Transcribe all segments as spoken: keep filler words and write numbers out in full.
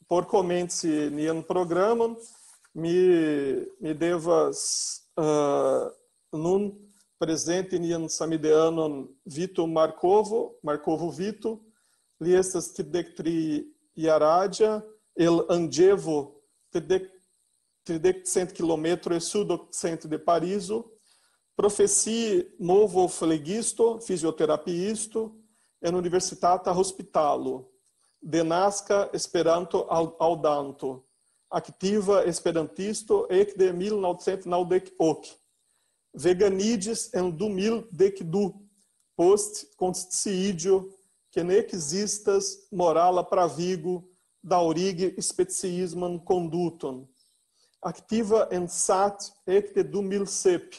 por komenci nian programon, mi, mi devas, eh, nun prezenti nian samideanon Vito Markovo, Markovo Vito. Li estas tridek tri jaraĝa, el Angevo, tridek, tridek cent kilometroj sudokcidente de Parizo. Profesie movoflegisto, fizioterapiisto en universitata hospitalo. Denaska Esperanto-aŭdanto. Aktiva esperantisto ekde mil novcent naŭdek ok. Veganiĝis en du mil dek du, post konsciiĝo, ke ne ekzistas morala pravigo daŭrigi speciisman konduton. Aktiva en sat ekde du mil sep,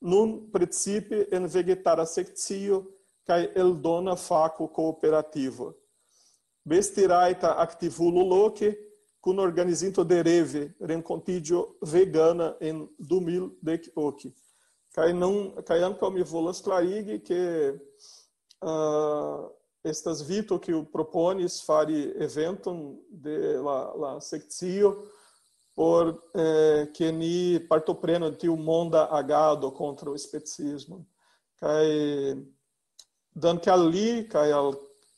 nun precipe en vegetara sekcio kaj eldona fako kooperativo. Bestirajta aktivulo loke, kun organizinto de Reve, renkontiĝo vegana en du mil dek ok. Kaj nun, kaj ankaŭ mi volas klarigi, ke, ah, estas Vito, kiu proponis fari eventon de la, la sekcio por, eh, ke ni partoprenu en tiu monda agado kontraŭ speciismo. Kaj danke al li, kaj al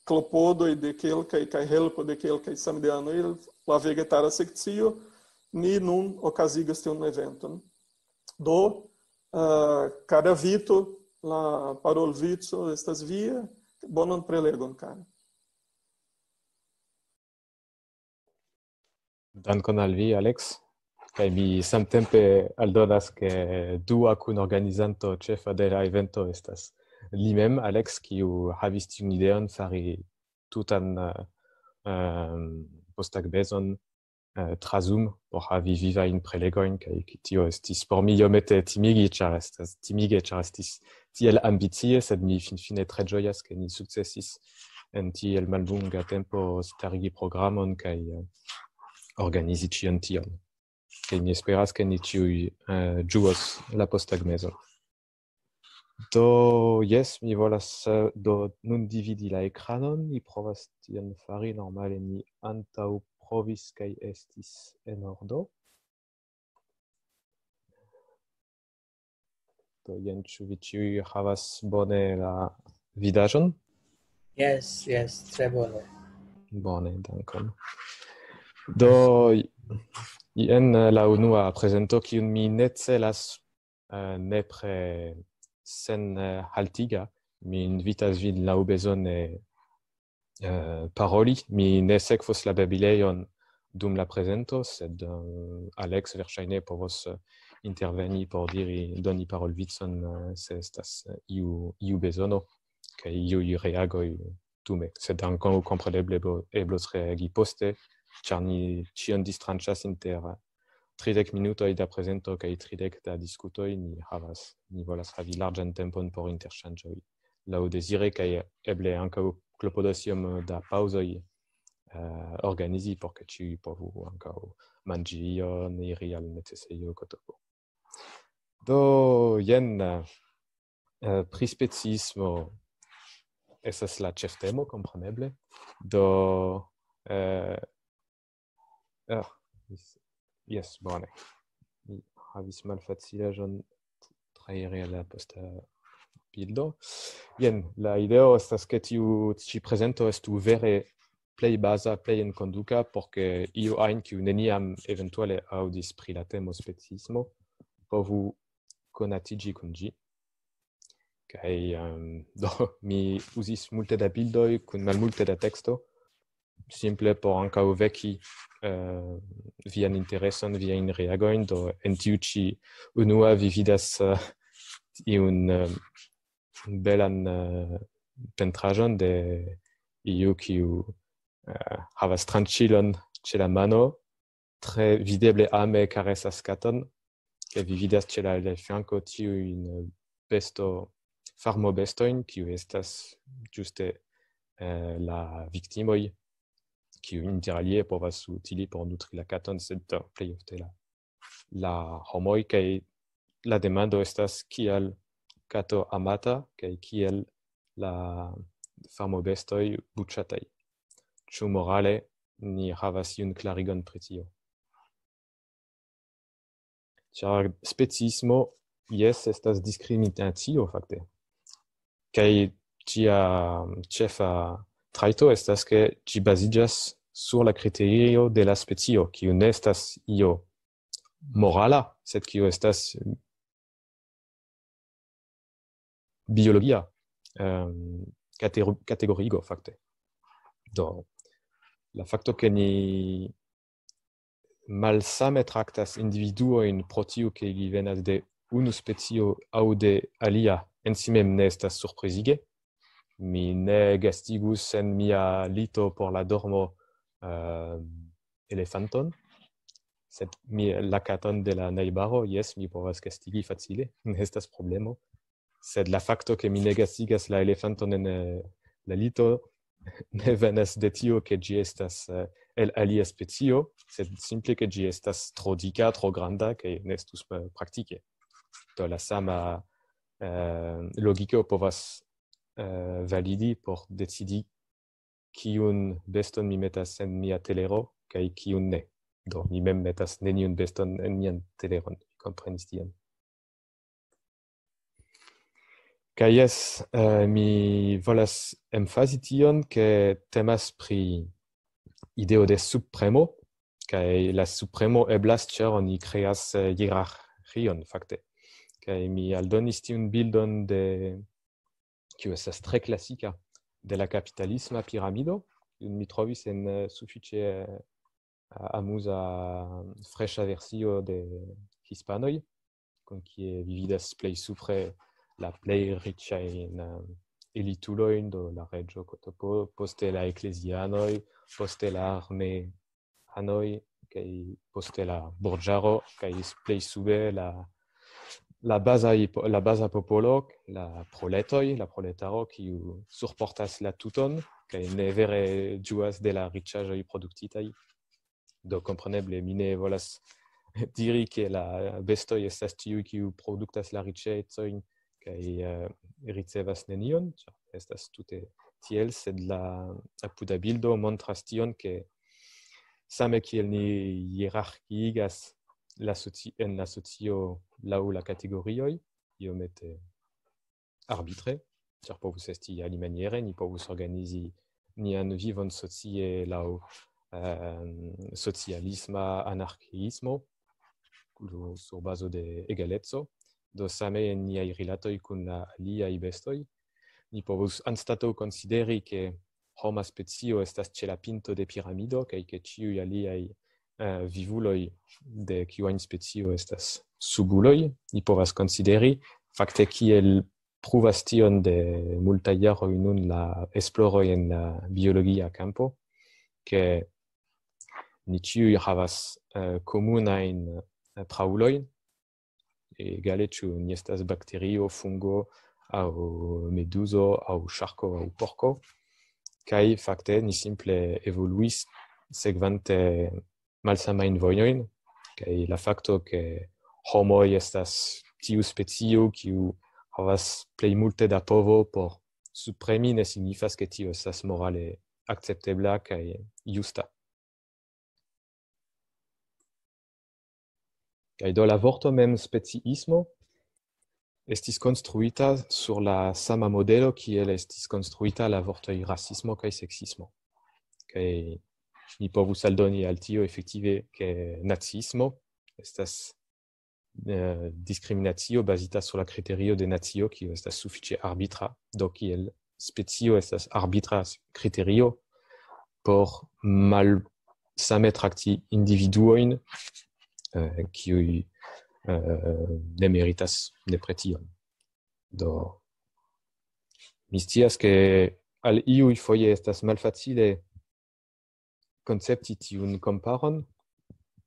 klopodoj de kelkaj, kaj helpo de kelkaj samideanoj, la vegetara sekcio, ni nun okazigas tiun eventon. Do, eh, kara Vito, la parolvico estas via. Bonan prelegon, kara. Dankon al vi, Alex. Kaj mi samtempe aldonas, ke dua kunorganizanto ĉefa de la evento estas li mem, Alex, kiu havis tiun ideon fari tutan, eh, em, posttagmezon, eh, tra Zoom por havi vivajn prelegojn, kaj tio estis por mi iomete timigi, ĉar estas timige, ĉar estis tiel ambicie, sed mi finfine tre ĝojas, ke ni sukcesis en tiel mallonga tempo starigi programon kaj, eh, organizi ĉion tion. Kaj mi esperas, ke ni ĉiuj, eh, ĝuos la posttagmezon. Do, jes, mi volas, eh, do nun dividi la ekranon, mi provas tion fari, normale mi antaŭ provis kaj estis en ordo. Do, jen, ĉu vi ĉiuj havas bone la vidaĵon? Jes, jes, tre bone. Bone, dankon. Do, jen, eh, la unua prezento, kiun mi ne celas, eh, nepre sen, eh, haltiga. Mi invitas vin laŭbezone, eh, paroli. Mi ne sekvos la babilejon dum la prezento, sed, eh, Alex verŝajne povos, eh, interveni por diri, doni parolvicon, eh, se estas, eh, iu, iu bezono, kaj iuj reagoj dume. Sed ankaŭ kompreneble eblo-, eblos reagi poste, ĉar ni ĉion distranĉas inter tridek minutoj da prezento kaj tridek da diskutoj. Ni havas, ni volas havi larĝan tempon por interŝanĝoj laŭ dezire, kaj eble ankaŭ klopodos iom da paŭzoj, eh, organizi, por ke ĉiuj povu ankaŭ manĝi ion, iri al necesejo, kotopo. Do, jen, eh, pri speciismo estas la ĉeftemo, kompreneble. Do, eh, ah, jes, jes, bone. Mi havis malfacilaĵon trairi al la posta bildo. Jen, la ideo estas, ke tiu ĉi prezento estu vere plej baza, plej enkonduka, por ke iu ajn, kiu neniam eventuale aŭdis pri la temo speciismo, povu konatiĝi kun ĝi. Kaj, em, do, mi uzis multe da bildoj kun malmulte da teksto, simple por ankaŭ veki, eh, vian intereson, viajn reagojn. Do, en tiu ĉi unua vi vidas, eh, iun, eh, belan, eh, pentraĵon de iu, kiu, eh, havas tranĉilon ĉe la mano, tre videble ame karesas katon, kaj vi vidas ĉe la aliaj flanko tiujn, eh, besto, farmobestojn, kiu estas ĝuste, eh, la viktimoj, kiu inter alie povas utili por nutri la katon, sed, eh, plej ofte la, la homoj, kaj la demando estas, kial kato amata, kaj kiel la farmobestoj buĉataj. Ĉu morale ni havas iun klarigon pri tio. Ĉar speciismo, jes, estas diskriminacio, fakte. Kaj ĝia ĉefa trajto estas, ke ĝi baziĝas sur la kriterio de la specio, kiu ne estas io morala, sed kiu estas biologia, ehm, katero-, kategoriigo, fakte. Do, la fakto, ke ni malsame traktas individuojn pro tiu, ke ili venas de unu specio aŭ de alia, en si mem ne estas surprizige. Mi ne gastigus en mia lito por la dormo, ehm, elefanton, sed mi, la katon de la najbaro, jes, mi povas gastigi facile, ne estas problemo. Sed la fakto, ke mi ne gastigas la elefanton en, eh, la lito, ne venas de tio, ke ĝi estas, eh, el alia specio, sed simple, ke ĝi estas tro dika, tro granda, kaj ne estus, eh, praktike. Do la sama, eh, logiko povas, eh, validi por decidi, kiun beston mi metas en mia telero, kaj kiun ne. Do, mi mem metas neniun beston en mian teleron. Vi komprenis tion. Kaj jes, eh, mi volas emfazi tion, ke temas pri ideo de subpremo, kaj la subpremo eblas, ĉar oni kreas, eh, hierarkion, fakte. Kaj mi aldonis tiun bildon de, kiu estas tre klasika, de la kapitalisma piramido, kiun mi trovis en, eh, sufiĉe, eh, amuza, freŝa versio de hispanoj, kun kie vi vidas plej supre la plej riĉajn, eh, elitulojn, do la reĝo Kotopo, poste la eklezianoj, poste la armeanoj, kaj poste la burĝaro, kaj s-, plej sube la, la baza ipo-, la baza popolo, la proletoj, la proletaro, kiu surportas la tuton, kaj ne vere ĝuas de la riĉaĵoj produktitaj. Do, kompreneble, mi ne volas diri, ke la bestoj estas tiuj, kiu produktas la riĉecojn kaj, eh, ricevas nenion, ĉar estas tute tiel, sed la apuda bildo montras tion, ke same kiel ni hierarkiigas la soci-, en la socio laŭ la kategorioj, iomete arbitre, ĉar povus esti alimaniere, ni povus organizi nian vivon socie laŭ, ehm, socialisma anarkiismo, sur bazo de egaleco. Do same en niaj rilatoj kun la aliaj bestoj, ni povus anstataŭ konsideri, ke homa specio estas ĉe la pinto de piramido, kaj ke ĉiuj aliaj, eh, vivuloj de kiu ajn specio estas subuloj, ni povas konsideri, fakte kiel pruvas tion de multaj jaroj nun la esploroj en la biologia kampo, ke ni ĉiuj havas, eh, komunajn, eh, praulojn. Egale, ĉu ni estas bakterio, fungo, aŭ meduzo, aŭ ŝarko, aŭ porko. Kaj fakte ni simple evoluis sekvante malsamajn vojojn, kaj la fakto, ke homoj estas tiu specio, kiu havas plej multe da povo por subpremi, ne signifas, ke tio estas morale akceptebla kaj justa. Kaj do la vorto mem speciismo estis konstruita sur la sama modelo, kiel estis konstruita la vortoj rasismo kaj seksismo. Kaj mi povus aldoni al tio efektive, ke naciismo estas, eh, diskriminacio bazita sur la kriterio de nacio, kiu estas sufiĉe arbitra, do kiel specio estas arbitra kriterio por malsame trakti individuojn, eh, kiuj, eh, ne meritas nepre tion. Do, mi scias, ke al iuj foje estas malfacile koncepti tiun komparon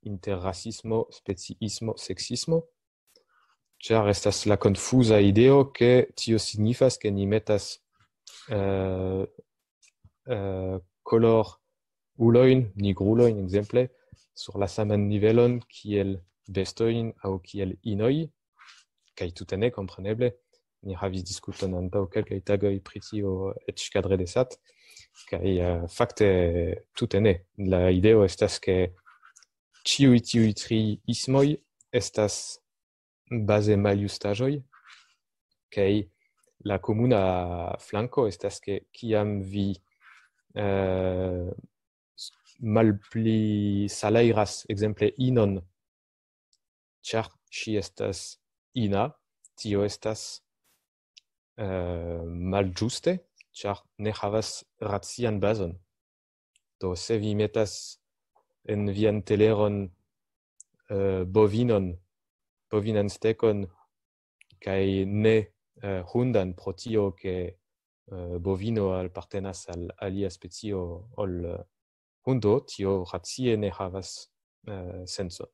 inter rasismo, speciismo, seksismo, ĉar estas la konfuza ideo, ke tio signifas, ke ni metas, eh, eh, kolorulojn, nigrulojn, ekzemple, sur la saman nivelon kiel bestojn aŭ kiel inoj, kaj tute ne, kompreneble. Ni havis diskuton antaŭ kelkaj tagoj pri tio, eĉ kadre de sat. Kaj eh, fakte tute ne. La ideo estas, ke ĉiuj tiuj tri ismoj estas baze maljustaĵoj, kaj la komuna flanko estas, ke kiam vi eh, malpli salajras, ekzemple, inon, ĉar ŝi estas ina, tio estas eh, malĝuste, ĉar ne havas racian bazon. Do se vi metas en vian teleron eh, bovinon, bovinan stekon, kaj ne eh, hundan, pro tio ke eh, bovino apartenas al alia specio ol eh, hundo, tio racie ne havas eh, sencon.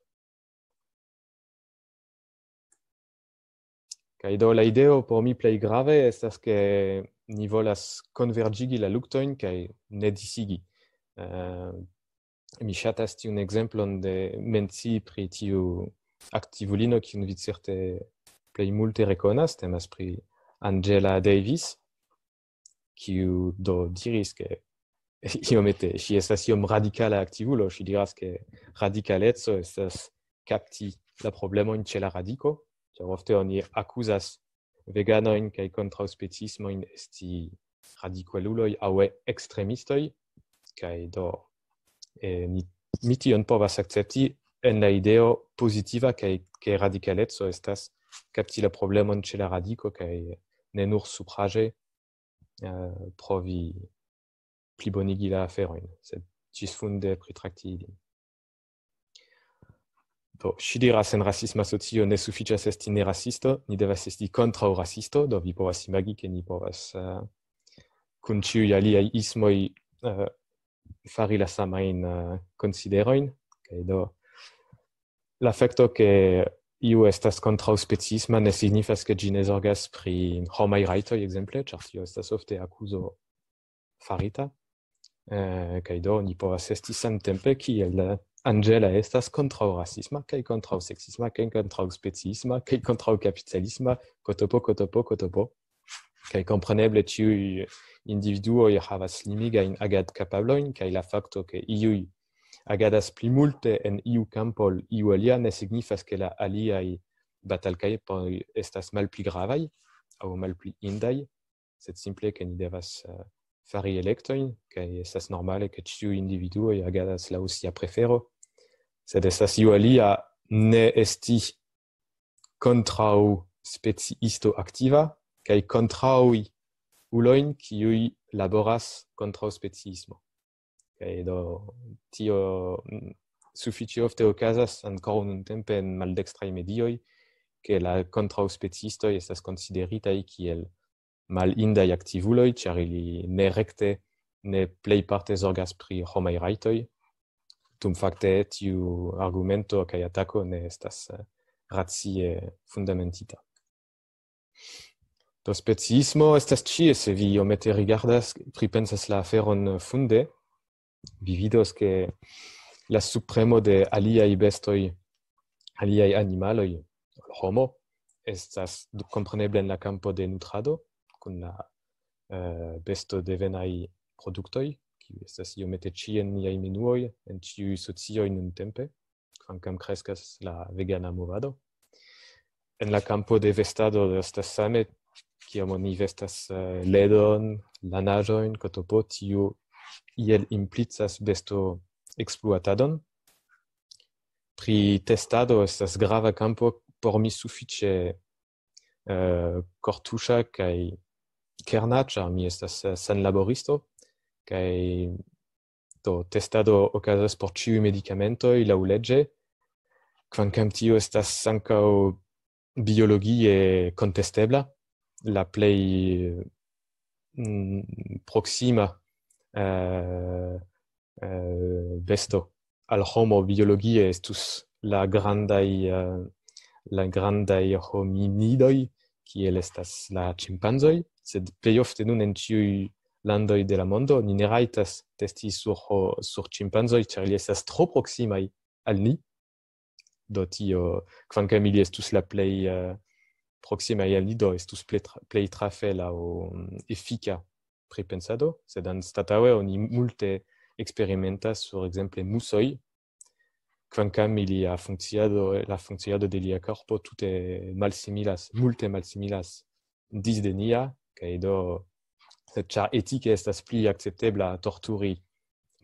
Kaj do la ideo por mi plej grave estas, ke ni volas konverĝigi la luktojn kaj ne disigi. Eh, mi ŝatas tiun ekzemplon de mencii pri tiu aktivulino, kiun vi certe plej multe rekonas, temas pri Angela Davis, kiu do diris, ke iomete, ŝi estas iom radikala aktivulo, ŝi diras, ke radikaleco estas kapti la problemojn ĉe la radiko, ĉar ofte oni akuzas veganojn kaj kontraŭspeciismojn esti radikaluloj aŭ ekstremistoj, kaj do eh, ni, mi tion povas akcepti en la ideo pozitiva, kaj ke radikaleco estas kapti la problemon ĉe la radiko, kaj ne nur supraĵe eh, provi plibonigi la aferojn, sed ĝisfunde pritrakti ilin. Do, ŝi diras, en rasisma socio ne sufiĉas esti ne rasisto, ni devas esti kontraŭ rasisto, do vi povas imagi, ke ni povas eh, kun ĉiuj aliaj ismoj eh, fari la samajn eh, konsiderojn. Kaj do, la fakto, ke iu estas kontraŭspeciisma, ne signifas, ke ĝi ne zorgas pri homaj rajtoj, ekzemple, ĉar tio estas ofte akuzo farita. Eh, kaj do, ni povas esti samtempe kiel eh, Angela estas kontraŭrasisma, kaj kontraŭseksisma, kaj kontraŭspeciisma, kaj kontraŭkapitalisma, kotopo, kotopo, kotopo. Kaj kompreneble ĉiuj individuoj havas limigajn agadkapablojn, kaj la fakto, ke iuj agadas pli multe en iu kampo ol iu alia, ne signifas, ke la aliaj batalkampoj estas malpli gravaj aŭ malpli indaj, sed simple, ke ni devas eh, fari elektojn, kaj estas normale, ke ĉiuj individuoj agadas laŭ sia prefero, sed estas iu alia ne esti kontraŭ speciisto aktiva, kaj kontraŭ ulojn, kiuj laboras kontraŭ speciismo. Kaj do, tio mm, sufiĉe ofte okazas ankoraŭ nuntempe en maldekstraj medioj, ke la kontraŭspeciistoj estas konsideritaj kiel malindaj aktivuloj, ĉar ili ne rekte, ne plejparte zorgas pri homaj rajtoj. Dum fakte tiu argumento kaj atako ne estas eh, racie fundamentita. Do, speciismo estas ĉie, se vi iomete rigardas, pripensas la aferon funde, vi vidos, ke la supremo de aliaj bestoj, aliaj animaloj, homo, estas kompreneble en la kampo de nutrado, kun la eh, besto devenaj produktoj, kiuj estas iomete ĉie en niaj menuoj, en ĉiuj socioj nuntempe, kvankam kreskas la vegana movado. En la kampo de vestado estas same, kiam oni vestas eh, ledon, lanaĵojn, kotopo, tiu iel implicas besto ekspluatadon. Pri testado estas grava kampo, por mi sufiĉe eh, kortuŝa kaj kerna, ĉar mi estas eh, senlaboristo, kaj do testado okazas por ĉiuj medikamentoj laŭleĝe, kvankam tio estas ankaŭ biologie kontestebla, la plej mm, proksima eh, eh, besto al homo biologie estus la grandaj eh, la grandaj hominidoj, kiel estas la ĉimpanzoj, sed plej ofte nun en ĉiuj landoj de la mondo ni ne rajtas testi sur, ho- sur ĉimpanzoj, ĉar ili estas tro proksimaj al ni. Do tio, kvankam ili estus la plej eh, proksimaj al ni, do estus plej, tra- plej trafe laŭ mm, efika pripensado, sed anstataŭe oni multe eksperimentas sur ekzemple musoj, kvankam ilia funkciado, la funkciado de lia korpo tute malsimilas, multe malsimilas disde nia, kaj do, sed ĉar etike estas pli akceptebla torturi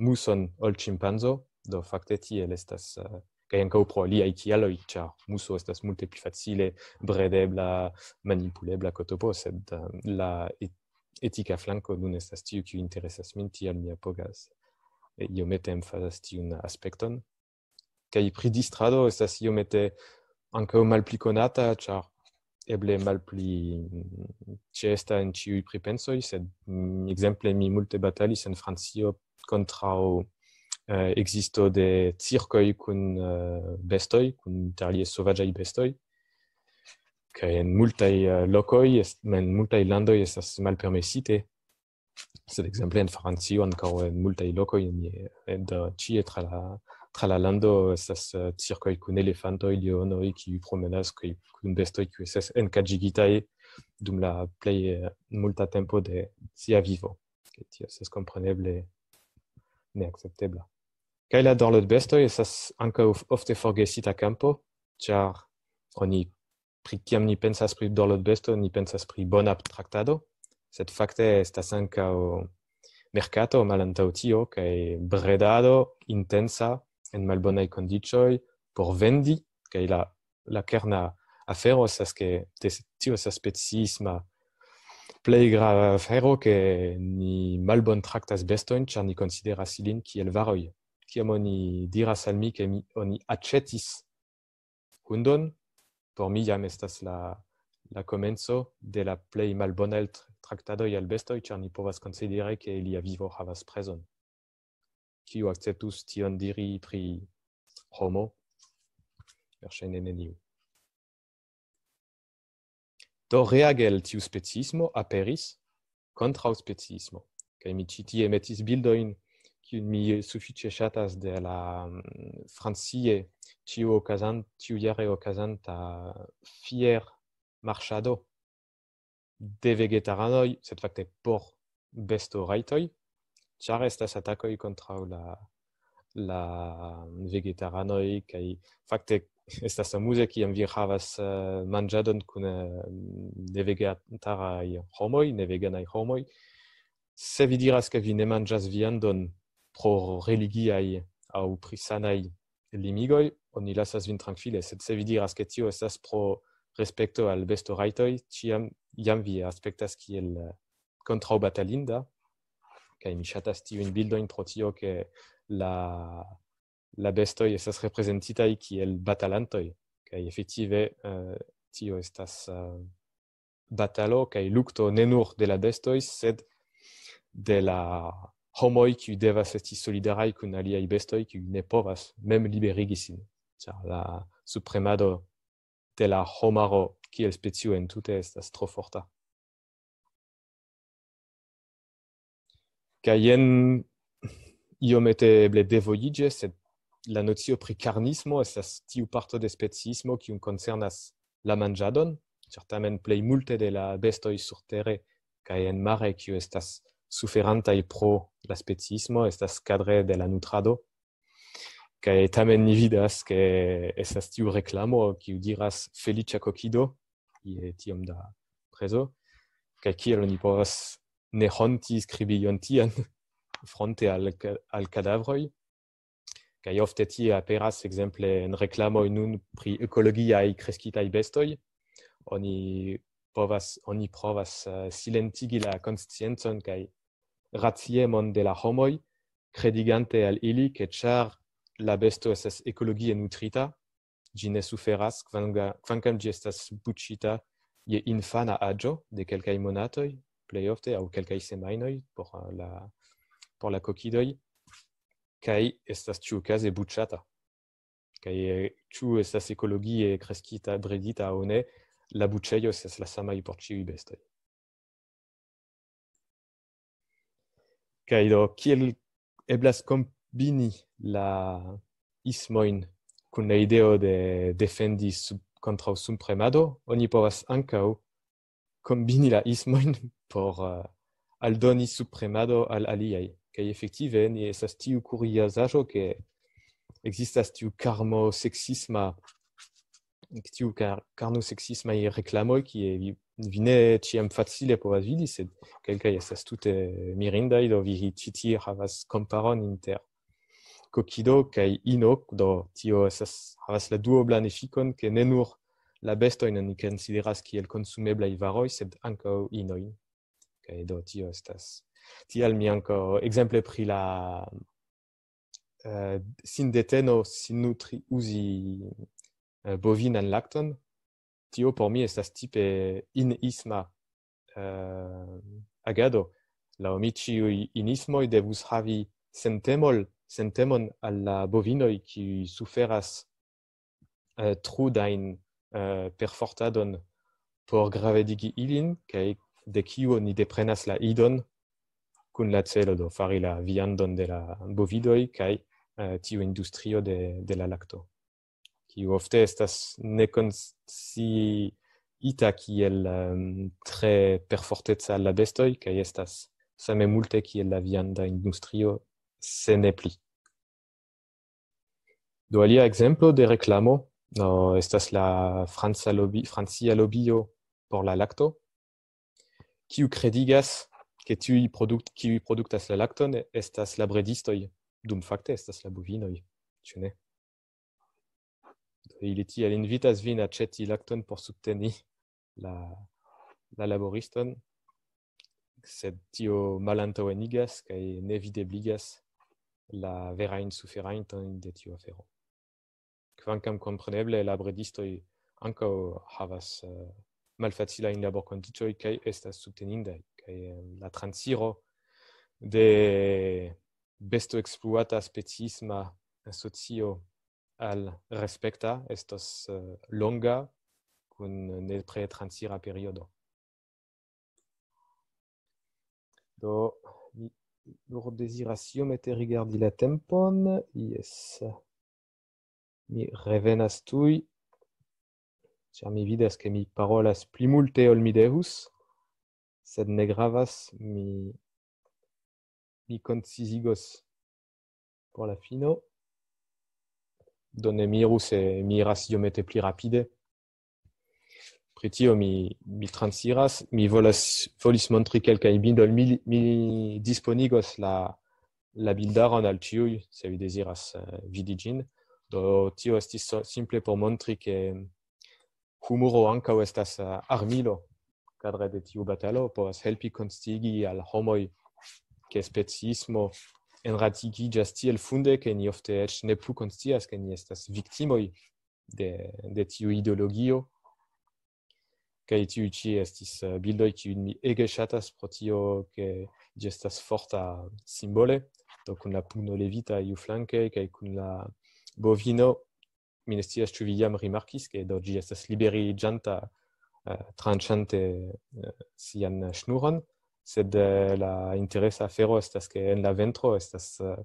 muson ol ĉimpanzo, do fakte tiel estas, eh, kaj ankaŭ pro aliaj kialoj, ĉar muso estas multe pli facile bredebla, manipulebla, kotopo, sed, eh, la et-, etika flanko nun estas tiu, kiu interesas min, tial mi apogas, eh, iomete emfazas tiun aspekton. Kaj pri distrado estas iomete ankaŭ malpli konata, ĉar eble malpli, mm, ĉeesta en ĉiuj pripensoj, sed, mm, ekzemple mi multe batalis en Francio kontraŭ, eh, ekzisto de cirkoj kun, eh, bestoj, kun interalie sovaĝaj bestoj. Kaj en multaj, eh, lokoj, est-, en multaj landoj estas malpermesite. Sed ekzemple en Francio, ankaŭ en multaj lokoj, en, en, ĉie tra la, tra la lando estas, eh, cirkoj kun elefantoj, leonoj, kiuj promenas kaj kun bestoj, kiuj estas enkaĝigitaj dum la plej, eh, multa tempo de sia vivo. Kaj tio estas kompreneble neakceptebla. Kaj la dorlotbestoj estas ankaŭ ofte forgesita kampo, ĉar oni, pri, kiam ni pensas pri dorlotbesto, ni pensas pri bona traktado, sed fakte estas ankaŭ merkato malantaŭ tio, kaj bredado intensa en malbonaj kondiĉoj por vendi, kaj la, la kerna afero estas, ke tes-, tio estas speciisma plej grava afero, ke ni malbon traktas bestojn, ĉar ni konsideras ilin kiel varoj. Kiam oni diras al mi, ke mi, oni aĉetis hundon, por mi jam estas la, la komenco de la plej malbonaj tr-, traktadoj al bestoj, ĉar ni povas konsideri, ke ilia vivo havas prezon. Kiu akceptus tion diri pri homo? Verŝajne neniu. Do reage al tiu speciismo aperis kontraŭspeciismo. Kaj mi ĉi tie metis bildojn, kiujn mi sufiĉe ŝatas, de la, mm, francie ĉiu okazan-, ĉiujare okazanta fier marŝado de vegetaranoj, sed fakte por bestorajtoj, ĉar estas atakoj kontraŭ la, la vegetaranoj, kaj fakte estas amuze, kiam vi havas, eh, manĝadon kun, eh, nevegetaraj homoj, neveganaj homoj. Se vi diras, ke vi ne manĝas viandon pro religiaj aŭ pri sanaj limigoj, oni lasas vin trankvile, sed se vi diras, ke tio estas pro respekto al bestorajtoj, ĉiam jam vi aspektas kiel, eh, kontraŭbatalinda, kaj mi ŝatas tiujn bildojn pro tio, ke la, la bestoj estas reprezentitaj kiel batalantoj, kaj efektive, eh, tio estas, eh, batalo kaj lukto ne nur de la bestoj, sed de la homoj, kiuj devas esti solidaraj kun aliaj bestoj, kiuj ne povas mem liberigi sin, ĉar la supremado de la homaro kiel specio entute estas tro forta. Kaj jen iomete eble devojiĝe, sed la nocio pri karnismo estas tiu parto de speciismo, kiun koncernas la manĝadon, certamen plej multe de la bestoj surtere kaj en mare, kiu estas suferantaj pro la speciismo, estas kadre de la nutrado. Kaj tamen ni vidas, ke estas tiu reklamo, kiu diras "feliĉa kokido", je tiom da prezo, kaj kiel oni povas ne honti skribi ion tian fronte al ka-, al kadavroj. Kaj ofte tie aperas, ekzemple, en reklamoj nun pri ekologiaj kreskitaj bestoj. Oni povas, oni provas, eh, silentigi la konsciencon kaj raciemon de la homoj, kredigante al ili, ke ĉar la besto estas ekologie nutrita, ĝi ne suferas, kvanga-, kvankam ĝi estas buĉita je infana aĝo de kelkaj monatoj, plej ofte, aŭ kelkaj semajnoj por, eh, la, por la kokidoj, kaj estas ĉiukaze buĉata. Kaj, eh, ĉu estas ekologie kreskita, bredita aŭ ne, la buĉejo estas la samaj por ĉiuj bestoj. Kaj do, kiel eblas kombini la ismojn kun la ideo de defendi sub-, kontraŭ supremado? Oni povas ankaŭ kombini la ismojn por, eh, aldoni subpremado al aliaj. Kaj efektive ni estas tiu kuriozaĵo, ke ekzistas tiu karno seksisma, tiu kar-, karno seksismaj reklamoj, kie vi, vi ne ĉiam facile povas vidi, sed kelkaj estas tute mirindaj, do vi ĉi tie havas komparon inter kokido kaj ino, do tio estas, havas la duoblan efikon, ke ne nur la bestojn oni konsideras kiel konsumeblaj varoj, sed ankaŭ inojn. Kaj do tio estas. Tial mi ankaŭ, ekzemple pri la, eh, sindeteno, sinnutri, uzi, eh, bovinan lakton, tio por mi estas tipe inisma, eh, agado. Laŭ mi ĉiuj inismoj devus havi sentemol-, sentemon al la bovinoj, kiuj suferas, eh, trudajn, eh, perfortadon por gravedigi ilin, kaj de kiu oni deprenas la idon kun la celo do fari la viandon de la bovidoj kaj, eh, tiu industrio de, de la lakto, kiu ofte estas nekonsciita kiel, em, tre perforteca al la bestoj, kaj estas same multe kiel la vianda industrio, se ne pli. Do alia ekzemplo de reklamo, no, estas la franca lobby, francia lobio por la lakto, kiu kredigas, ke tiuj produkt-, kiuj produktas la lakton estas la bredistoj, dum fakte estas la bovinoj, ĉu ne? Ili tiel invitas vin aĉeti lakton por subteni la, la laboriston, sed tio malantaŭenigas kaj ne videbligas la verajn suferantojn de tiu afero. Kvankam kompreneble la bredistoj ankaŭ havas, eh, malfacilajn laborkondiĉoj kaj estas subtenindaj, kaj, eh, la transiro de bestoekspluata speciisma asocio al respekta estos, eh, longa kun nepre transira periodo. Do, mi nur deziras iomete rigardi la tempon. Jes. Mi revenas tuj, ĉar mi vidas, ke mi parolas pli multe ol mi devus, sed ne gravas, mi, mi koncizigos por la fino. Do ne miru se mi iras iomete pli rapide. Pri tio mi, mi transiras, mi volas, volis montri kelkajn bildojn, mi, mi disponigos la, la bildaron al ĉiuj, se vi deziras, eh, vidi ĝin. Do tio estis so-, simple por montri, ke humoro ankaŭ estas, eh, armilo kadre de tiu batalo, povas helpi konsciigi al homoj, ke speciismo enradikiĝas tiel funde, ke ni ofte eĉ ne plu konscias, ke ni estas viktimoj de, de tiu ideologio. Kaj tiuj ĉi estis, eh, bildoj, kiujn mi ege ŝatas pro tio, ke ĝi estas forta simbole, do kun la pugno levita iuflanke, kaj kun la bovino, mi ne scias, ĉu vi jam rimarkis, ke do ĝi estas liberiĝanta, eh, tranĉante, eh, sian ŝnuron, sed, eh, la interesa afero estas, ke en la ventro estas, eh,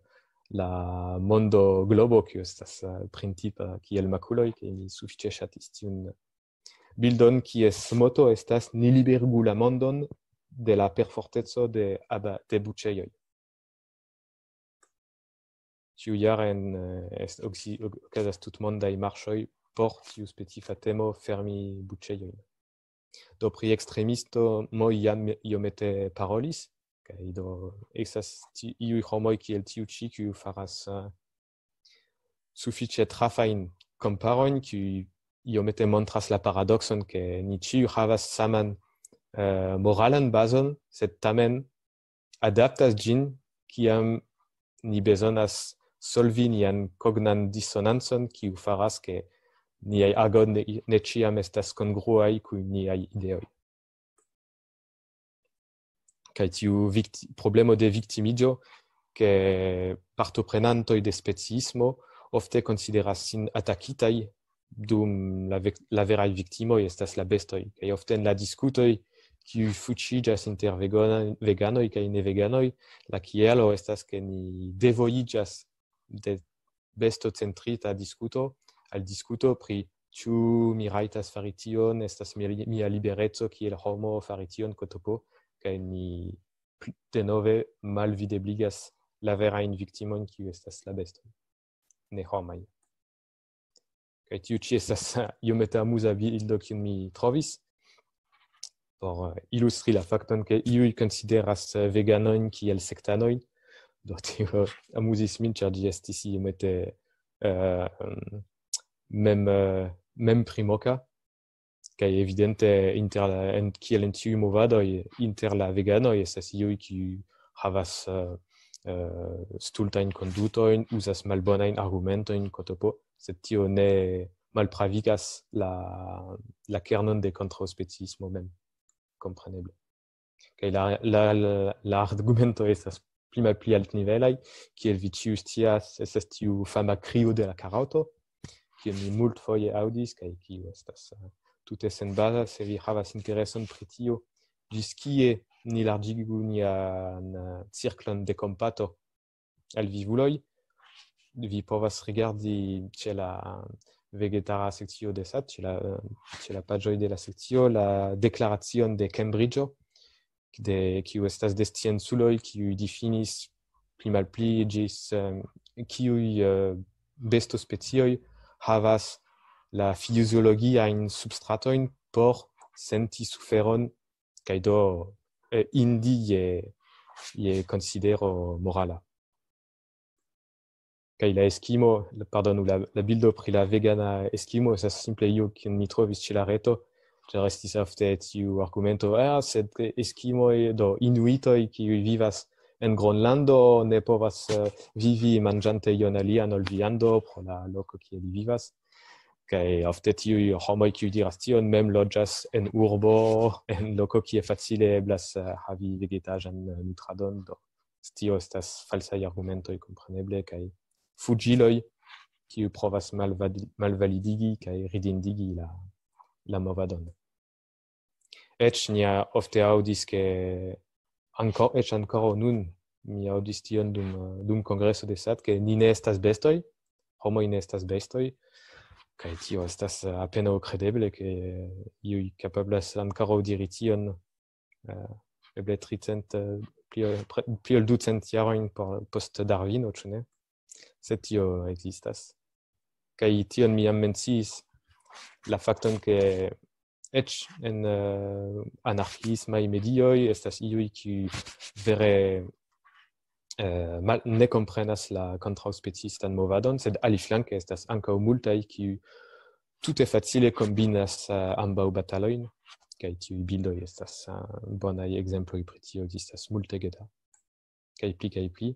la mondo globo, kiu estas, eh, printipa kiel makuloj, ke mi sufiĉe ŝatis tiun bildon, kies moto estas "Ni liberigu la mondon de la perforteco de aba-, de buĉejoj". Ĉiujare en, eh, est-, oksi-, ok-, okazas tutmondaj marŝoj por tiu specifa temo, fermi buĉejojn. Do pri ekstremisto Moj jam iomete parolis, kaj do estas ti-, iuj homoj kiel tiu ĉi, kiu faras, eh, sufiĉe trafajn komparojn, kiuj iomete montras la paradokson, ke ni ĉiuj havas saman, eh, moralan bazon, sed tamen adaptas ĝin, kiam ni bezonas solvi nian kognan disonancon, kiu faras, ke niaj agoj ne, ne ĉiam estas kongruaj kun niaj ideoj. Kaj tiu vikti-, problemo de viktimiĝo, ke partoprenantoj de speciismo ofte konsideras sin atakitaj, dum la vek-, la veraj viktimoj estas la bestoj. Kaj ofte en la diskutoj, kiuj fuŝiĝas inter vegona-, veganoj kaj neveganoj, la kialo estas, ke ni devojiĝas de bestocentrita diskuto al diskuto pri ĉu mi rajtas fari tion, estas mi-, mia libereco kiel homo fari tion, kotopo, kaj ni pl-, denove malvidebligas la verajn viktimojn, kiuj estas la bestoj, ne homaj. Kaj tiu ĉi estas iomete amuza bildo, kiun mi trovis, por, eh, ilustri la fakton, ke iuj konsideras, eh, veganojn kiel sektanojn. Do tio amuzis min, ĉar ĝi estis iomete, eh, mem, eh, mem primoka. Kaj evidente inter la, en, kiel en tiuj movadoj, inter la veganoj estas iuj, kiuj havas, eh, eh, stultajn kondutojn, uzas malbonajn argumentojn, kotopo, sed tio ne malpravigas la, la kernon de kontraŭspeciismo mem, kompreneble. Kaj la, la, la, la argumento estas pli malpli altnivelaj, kiel vi ĉiuj scias, estas tiu fama krio de la karoto, kiun mi multfoje aŭdis, kaj kiu estas, eh, tute senbaza, se vi havas intereson pri tio, ĝis kie ni larĝigu nian, eh, cirklon de kompato al vivuloj, vi povas rigardi ĉe la vegetara sekcio de sat, ĉe la, eh, ĉe la paĝoj de la sekcio, la deklaracion de Cambridgeo, de, kiu estas de scienculoj, kiuj difinis pli malpli ĝis, em, kiuj, eh, bestospecioj havas la fiziologiajn substratojn por senti suferon, kaj do, eh, indi je, je konsidero morala. Kaj la eskimo, la, pardonu, la, la bildo pri la vegana eskimo estas simple io, kiun mi trovis ĉe la reto, ĉar estis ofte tiu argumento, "Ah, sed eskimoj, do inuitoj, kiuj vivas en Gronlando, ne povas, eh, vivi manĝante ion alian ol viando pro la loko, kie li vivas." Kaj ofte tiuj homoj, kiuj diras tion, mem loĝas en urbo, en loko, kie facile eblas, eh, havi vegetaĵan, eh, nutradon, do tio estas falsaj argumentoj, kompreneble, kaj fuĝiloj, kiuj provas malvadi-, malvalidigi kaj ridindigi la, la movadon. Eĉ ni ofte aŭdis, ke anko-, eĉ ankoraŭ nun mi aŭdis tion dum, dum kongreso de sat, ke ni ne estas bestoj, homoj ne estas bestoj, kaj tio estas, eh, apenaŭ kredeble, ke iuj kapablas ankoraŭ diri tion, eh, eble tricent, eh, pli ol, pre-, pli ol ducent jarojn por, post Darwino, ĉu ne? Sed tio ekzistas. Kaj tion mi jam menciis, la fakton, ke eĉ en, eh, anarkiismaj medioj estas iuj, kiuj vere, eh, mal-, ne komprenas la kontraŭspeciistan movadon, sed aliflanke estas ankaŭ multaj, kiuj tute facile kombinas, eh, ambaŭ batalojn, kaj tiuj bildoj estas, eh, bonaj ekzemploj pri tio, ekzistas multege da, kaj pli kaj pli.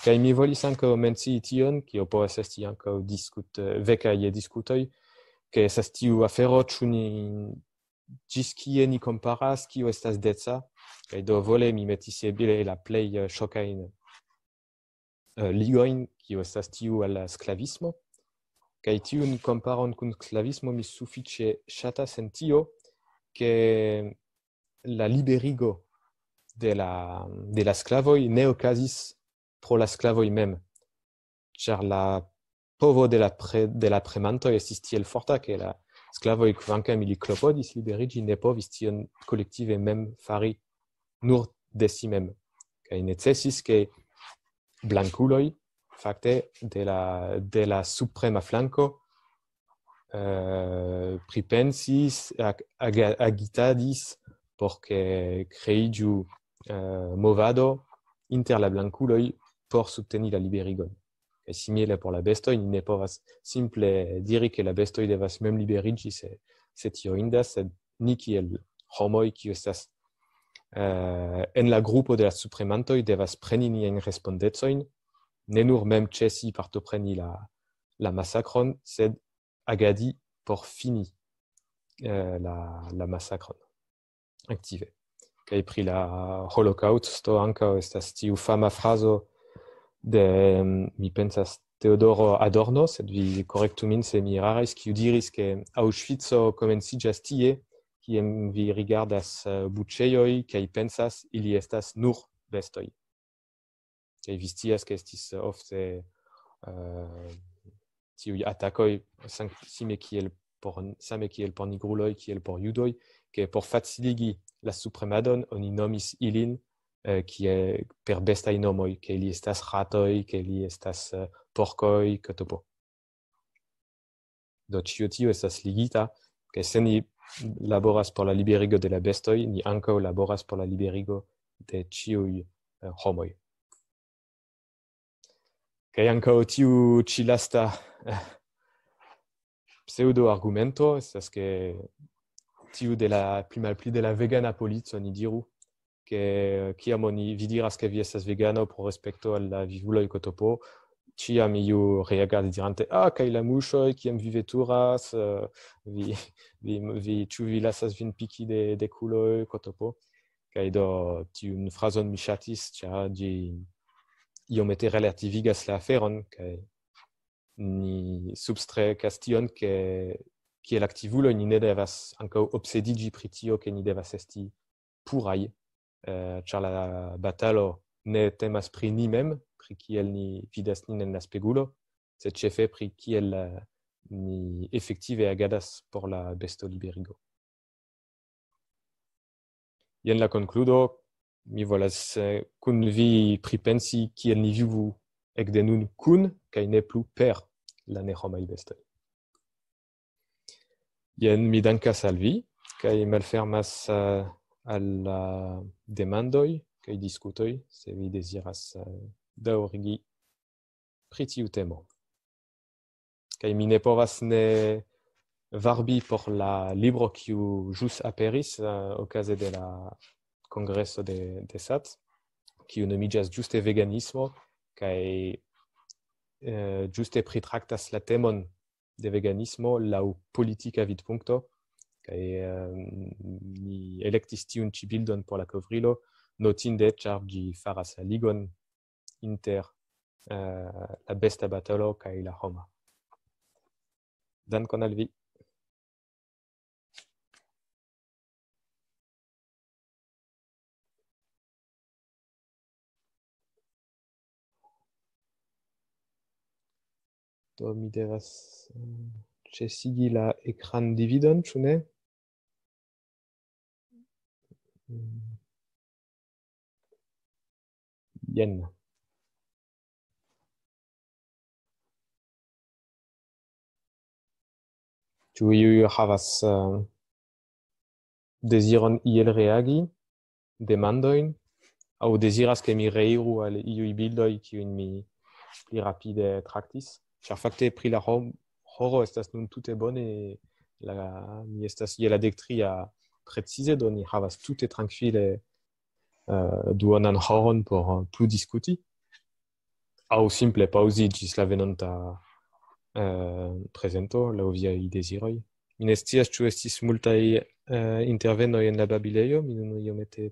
Kaj mi volis ankaŭ mencii tion, kio povas esti ankaŭ diskut-, eh, veka je diskutoj, ke estas tiu afero, ĉu ni, ĝis kie ni komparas, kio estas deca, kaj do vole mi metis ebile la plej, eh, ŝokajn, eh, ligojn, kio estas tiu al la sklavismo. Kaj tiun komparon kun sklavismo mi sufiĉe ŝatas en tio, ke la liberigo de la, de la sklavoj ne okazis pro la sklavoj mem, ĉar la povo de la pre-, de la premantoj estis tiel forta, ke la sklavoj, kvankam ili klopodis liberiĝi, ne povis tion kolektive mem fari nur de si mem. Kaj necesis, ke blankuloj, fakte, de la, de la suprema flanko, eh, pripensis, ag-, aga-, agitadis por ke kreiĝu, eh, movado inter la blankuloj por subteni la liberigon. Kaj simile por la bestoj, ni ne povas simple diri, ke la bestoj devas mem liberiĝi, se, se tio indas, sed ni kiel homoj, kiu estas, eh, en la grupo de la supremantoj, devas preni niajn respondecojn, ne nur mem ĉesi partopreni la, la masakron, sed agadi por fini, eh, la, la masakron aktive. Kaj pri la holokaŭsto ankaŭ estas tiu fama frazo de, mi pensas, Teodoro Adorno, sed vi korektu min se mi eraris, kiu diris, ke Aŭŝvico komenciĝas tie, kien vi rigardas, eh, buĉejoj, kaj pensas, ili estas nur bestoj. Kaj vi scias, ke estis ofte, eh, tiuj atakoj, san-, same kiel por, same kiel por nigruloj, kiel por judoj, ke por faciligi la supremadon oni nomis ilin, eh, kie per bestaj nomoj, ke ili estas ratoj, ke ili estas, eh, porkoj, kotopo. Do ĉio tio estas ligita, ke se ni laboras por la liberigo de la bestoj, ni ankaŭ laboras por la liberigo de ĉiuj, eh, homoj. Kaj ankaŭ tiu ĉi lasta, eh, pseudo-argumento estas, ke tiu de la pli malpli de la vegana polico, ni diru, ke kiam oni, vi diras, ke vi estas vegano pro respekto al la vivuloj, kotopo, ĉiam iu reagas dirante: "Ah, kaj la muŝoj, kiam vi veturas, eh, vi, vi, vi, ĉu vi lasas vin piki de, de kuloj, kotopo?" Kaj do tiun frazon mi ŝatis, ĉar ĝi iomete relativigas la aferon, kaj ni substrekas tion, ke kiel aktivuloj ni ne devas ankaŭ obsediĝi pri tio, ke ni devas esti puraj, eh, ĉar la batalo ne temas pri ni mem, pri kiel ni vidas nin en la spegulo, sed ĉefe pri kiel, eh, ni efektive agadas por la bestoliberigo. Jen la konkludo, mi volas, eh, kun vi pripensi kiel ni vivu ekde nun kun kaj ne plu per la nehomaj bestoj. Jen mi dankas al vi, kaj malfermas, eh, al la demandoj kaj diskutoj, se vi deziras, eh, daŭrigi pri tiu temo. Kaj mi ne povas ne varbi por la libro, kiu ĵus aperis, eh, okaze de la kongreso de, de sat, kiu nomiĝas ĝuste Veganismo, kaj, eh, ĝuste pritraktas la temon de veganismo laŭ politika vidpunkto, kaj, eh, mi elektis tiun ĉi bildon por la kovrilo, notinde, ĉar ĝi faras la ligon inter, eh, la besta batalo kaj la homa. Dankon al vi. Do mi devas, eh, ĉesigi la ekran dividon, ĉu ne? Mm. Jen. Ĉu iuj havas, eh, deziron iel reagi, demandojn, aŭ deziras, ke mi reiru al iuj bildoj, kiujn mi pli rapide traktis? Ĉar fakte pri la hom-, horo estas nun tute bone, la, mi estas je la dek tria precize, do ni havas tute trankvile, eh, duonan horon por, eh, plu diskuti. Aŭ simple paŭzi ĝis la venonta, eh, prezento, laŭ viaj deziroj. Mi ne scias, ĉu estis multaj, eh, intervenoj en la babilejo, mi nun iomete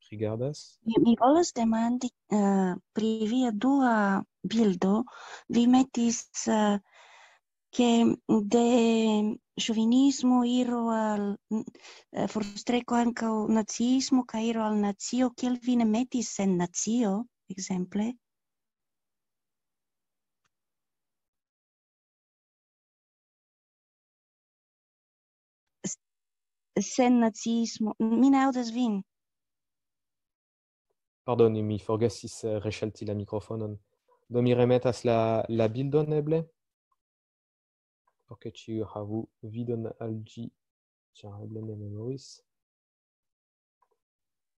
rigardas. Mi, mi volas demandi, eh, pri via dua bildo. Vi metis, eh, ke de ŝovinismo iro al, eh, forstreko ankaŭ naciismo, kaj iro al nacio, kiel vi ne metis sen nacio, ekzemple? S-, sen naciismo. Mi ne aŭdas vin. Pardoni, mi forgesis, eh, reŝalti la mikrofonon. Do mi remetas la, la bildon eble, por ke ĉiuj havu vidon al ĝi, ĉar eble ne memoris.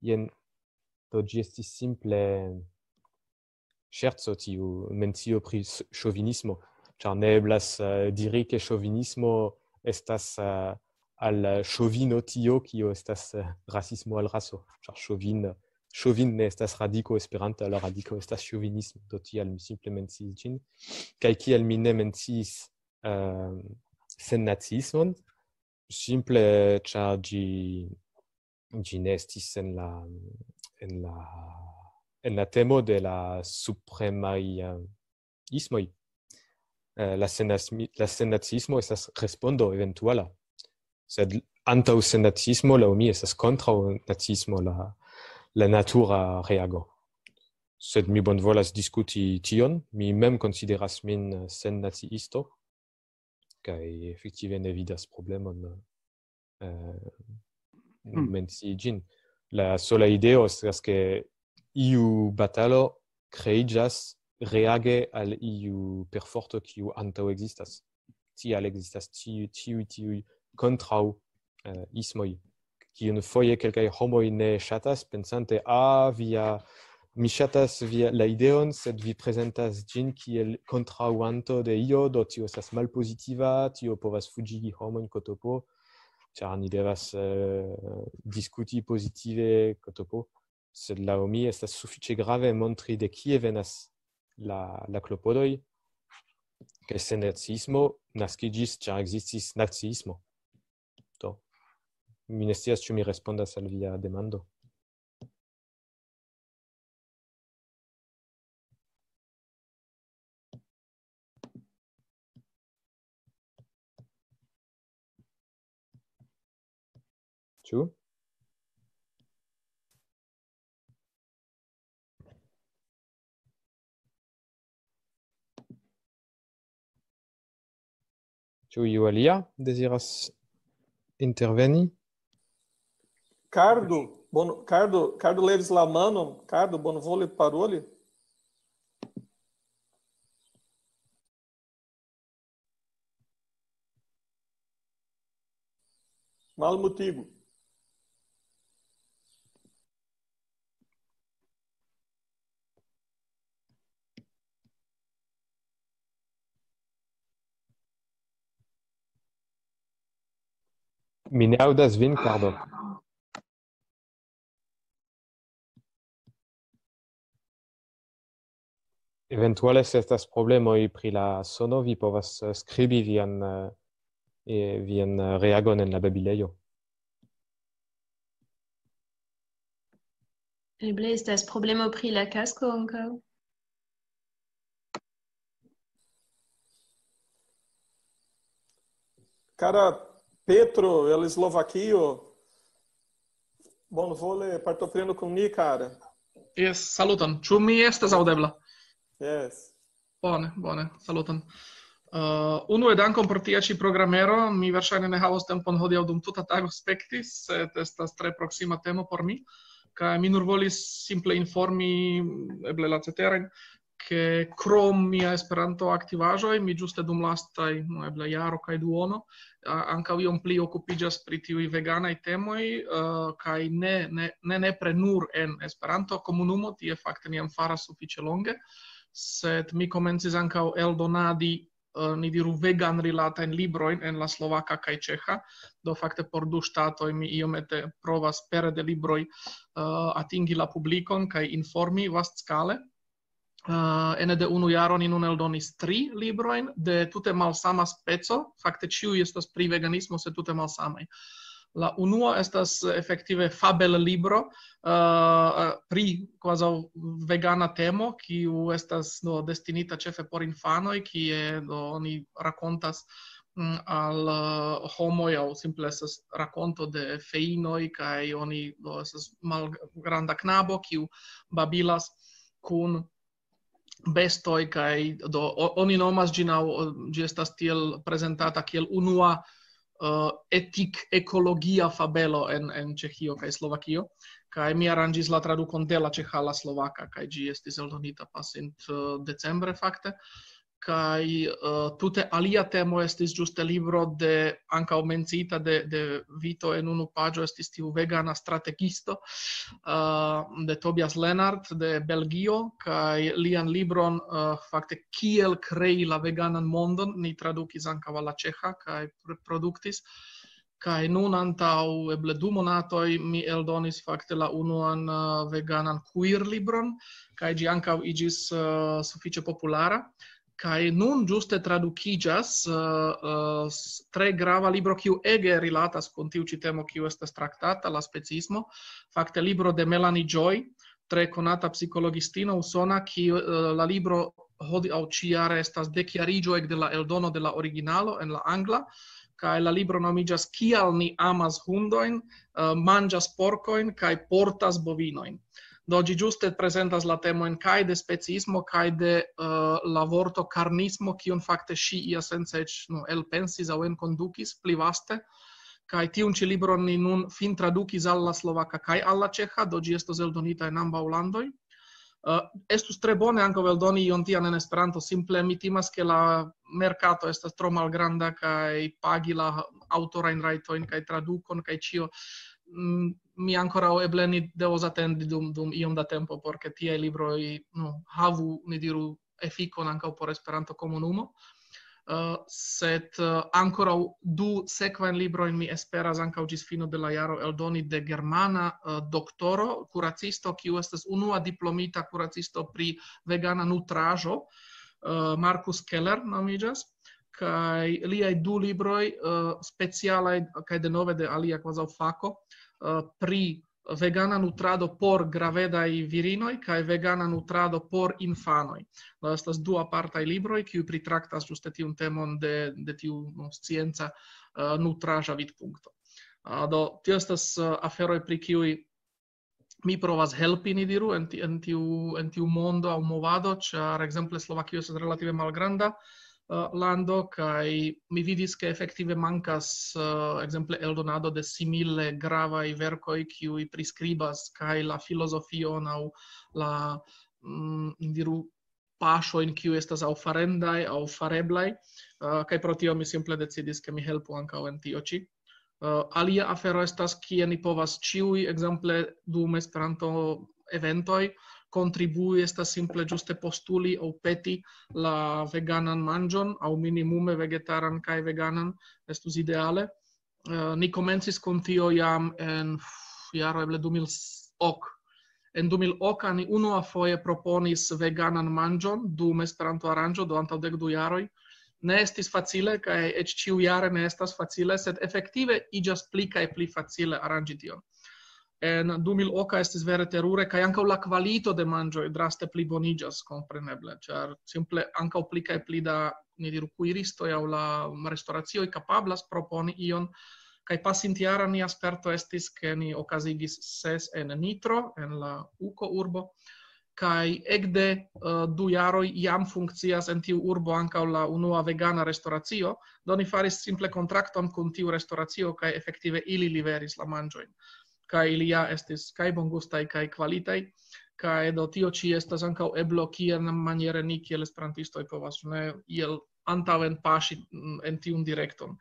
Jen, do ĝi estis simple ŝerco tiu mencio pri s-, ŝovinismo, ĉar ne eblas, eh, diri, ke ŝovinismo estas, eh, al ŝovino tio, kio estas, eh, rasismo al raso, ĉar ŝovin-, ŝovin ne estas radiko esperanta, la radiko estas ŝovinismo, do tial mi simple menciis ĝin. Kaj kial mi ne menciis, eh, sennaciismon? Simple ĉar ĝi, ĝi ne estis en la, en la, en la temo de la supremaj, eh, ismoj. Eh, la sennas-, la sennaciismo estas respondo eventuala. Sed antaŭ sennaciismo, laŭ mi, estas kontraŭ naciismo la, la natura reago. Sed mi bonvolas diskuti tion. Mi mem konsideras min sennaciisto, kaj efektive ne vidas problemon, eh, Hmm. mencii ĝin. La sola ideo estas, ke iu batalo kreiĝas reage al iu perforto, kiu antaŭ ekzistas. Tial ekzistas tiuj, tiuj, tiuj kontraŭ, eh, ismoj, kiun foje kelkaj homoj ne ŝatas, pensante, "Ah, via, mi ŝatas via, la ideon, sed vi prezentas ĝin kiel kontraŭanto de io, do tio estas malpozitiva, tio povas fuĝigi homojn, kotopo, ĉar ni devas, eh, diskuti pozitive, kotopo." Sed laŭ mi estas sufiĉe grave montri, de kie venas la, la klopodoj, ke sen naciismo naskiĝis, ĉar ekzistis naciismo. Do, mi ne scias, ĉu mi respondas al via demando. Ĉu? Ĉu iu alia deziras interveni? Cardo, bon, Cardo, Cardo levis la manon. Cardo, bonvole paroli. Malmutigu. Mi ne aŭdas vin, Cardo. Eventuale, se estas problemoj pri la sono, vi povas, eh, skribi vian, eh, eh, vian, eh, reagon en la babilejo. Eble estas problemo pri la kasko ankaŭ. Cara Petro, el Eslovakio, bonvole partoprenu kun ni, cara. Yes, saluton. Ĉu mi estas aŭdebla? Yes. Bone, bone, saluton. Uh, unue dankon por tia ĉi programero. Mi verŝajne ne havos tempon hodiaŭ dum tuta tago spekti, sed estas tre proksima temo por mi. Kaj mi nur volis simple informi, eble la ceterajn, ke krom mia Esperanto-aktivaĵoj, mi ĝuste dum lastaj, no, eble jaro kaj duono, a-, ankaŭ iom pli okupiĝas pri tiuj veganaj temoj, eh, kaj ne, ne, ne nepre nur en Esperanto-komunumo, tie fakte mi jam faras sufiĉe longe, sed mi komencis ankaŭ eldonadi, eh, ni diru, vegan-rilatajn librojn en la slovaka kaj ĉeĥa. Do fakte por du ŝtatoj mi iomete provas pere de libroj, eh, atingi la publikon kaj informi vastskale. Eh, ene de unu jaro ni nun eldonis tri librojn de tute malsama speco. Fakte ĉiuj estas pri veganismo, sed tute malsamaj. La unua estas efektive fabel-libro, eh, pri kvazaŭ vegana temo, kiu estas, no, destinita ĉefe por infanoj, kie, no, oni rakontas, mm, al, eh, homoj, aŭ simple estas rakonto de feinoj, kaj oni, no, estas malgranda knabo, kiu babilas kun bestoj, kaj do o-, oni nomas ĝin, aŭ, o-, ĝi estas tiel prezentata kiel unua, eh, etik-ekologia fabelo en, en Ĉeĥio kaj Slovakio. Kaj mi aranĝis la tradukon de la ĉeĥa al la slovaka, kaj ĝi estis eldonita pasint, eh, decembre fakte. Kaj, eh, tute alia temo estis ĝuste libro de, ankaŭ menciita de, de Vito en unu paĝo, estis tiu vegana strategisto, eh, de Tobias Lennart de Belgio, kaj lian libron, eh, fakte kiel krei la veganan mondon, ni tradukis ankaŭ al la ĉeĥa kaj pr-, produktis. Kaj nun antaŭ eble du monatoj mi eldonis fakte la unuan, eh, veganan queer-libron, kaj ĝi ankaŭ iĝis, eh, sufiĉe populara. Kaj nun ĝuste tradukiĝas, eh, eh, s-, tre grava libro, kiu ege rilatas kun tiu ĉi temo, kiu estas traktata, la specismo. Fakte libro de Melanie Joy, tre konata psikologistino usona, kiu, eh, la libro hodiaŭ ĉijare estas dekjariĝo ekde la eldono de la originalo en la angla, kaj la libro nomiĝas Kial ni amas hundojn, eh, manĝas porkojn kaj portas bovinojn. Do ĝi ĝuste prezentas la temojn kaj de specismo, kaj de, eh, la vorto karnismo, kiun fakte ŝi iasence eĉ, no, elpensis aŭ enkondukis pli vaste, Kaj tiun ĉi libron ni nun fin tradukis al la slovaka kaj al la ĉeĥa, do ĝi estos eldonita en ambaŭ landoj. Uh, estus tre bone ankaŭ eldoni ion tian en Esperanto, simple mi timas, ke la merkato estas tro malgranda kaj pagi la aŭtorajn rajtojn kaj tradukon kaj ĉio. Mm, mi ankoraŭ eble ni devos atendi dum, dum iom da tempo, por ke tiaj libroj, no, havu, ni diru, efikon ankaŭ por Esperanto-komunumo. Uh, sed uh, ankoraŭ du sekvajn librojn mi esperas ankaŭ ĝis fino de la jaro eldoni de germana uh, doktoro, kuracisto, kiu estas unua diplomita kuracisto pri vegana nutraĵo, uh, Markus Keller nomiĝas, kaj liaj du libroj uh, specialaj, kaj denove de alia kvazaŭ fako, uh, pri vegana nutrado por gravedaj virinoj kaj vegana nutrado por infanoj. Do estas du apartaj libroj, kiuj pritraktas ĝuste tiun temon de, de tiu, no, scienca, eh, nutraĵa vidpunkto. Ah, do, tio estas, eh, aferoj, pri kiuj mi provas helpi, ni diru, en ti-, en tiu, en tiu mondo aŭ movado, ĉar, ekzemple, Slovakio estas relative malgranda, eh, lando, kaj mi vidis, ke efektive mankas, eh, ekzemple, eldonado de simile gravaj verkoj, kiuj priskribas kaj la filozofion aŭ la, mm, diru, paŝojn, kiuj estas aŭ farendaj, aŭ fareblaj, eh, kaj pro tio mi simple decidis, ke mi helpu ankaŭ en tio ĉi. Eh, alia afero estas, kie ni povas ĉiuj, ekzemple, dum Esperanto-eventoj, kontribui, estas simple ĝuste postuli aŭ peti la veganan manĝon, aŭ minimume vegetaran kaj veganan, estus ideale. Eh, ni komencis kun tio jam en, uf, jaro eble du mil ok. En du mil ok ni unuafoje proponis veganan manĝon dum Esperanto-aranĝo, do antaŭ dek du jaroj. Ne estis facile, kaj eĉ ĉiujare ne estas facile, sed efektive iĝas pli kaj pli facile aranĝi tion. En du mil ok estis vere terure, kaj ankaŭ la kvalito de manĝoj draste pliboniĝas, kompreneble, ĉar simple ankaŭ pli kaj pli da, ni diru, kuiristoj aŭ la restoracioj kapablas proponi ion, kaj pasintjara nia sperto estis, ke ni okazigis ses en Nitro, en la Uko urbo, kaj ekde, eh, du jaroj jam funkcias en tiu urbo ankaŭ la unua vegana restoracio, do ni faris simple kontrakton kun tiu restoracio, kaj efektive ili liveris la manĝojn. Kaj ili ja estis kaj bongustaj, kaj kvalitaj, kaj do tio ĉi estas ankaŭ eblo, kiamaniere ni kiel esperantistoj povas, ne, iel antaŭen paŝi, mm, en tiun direkton.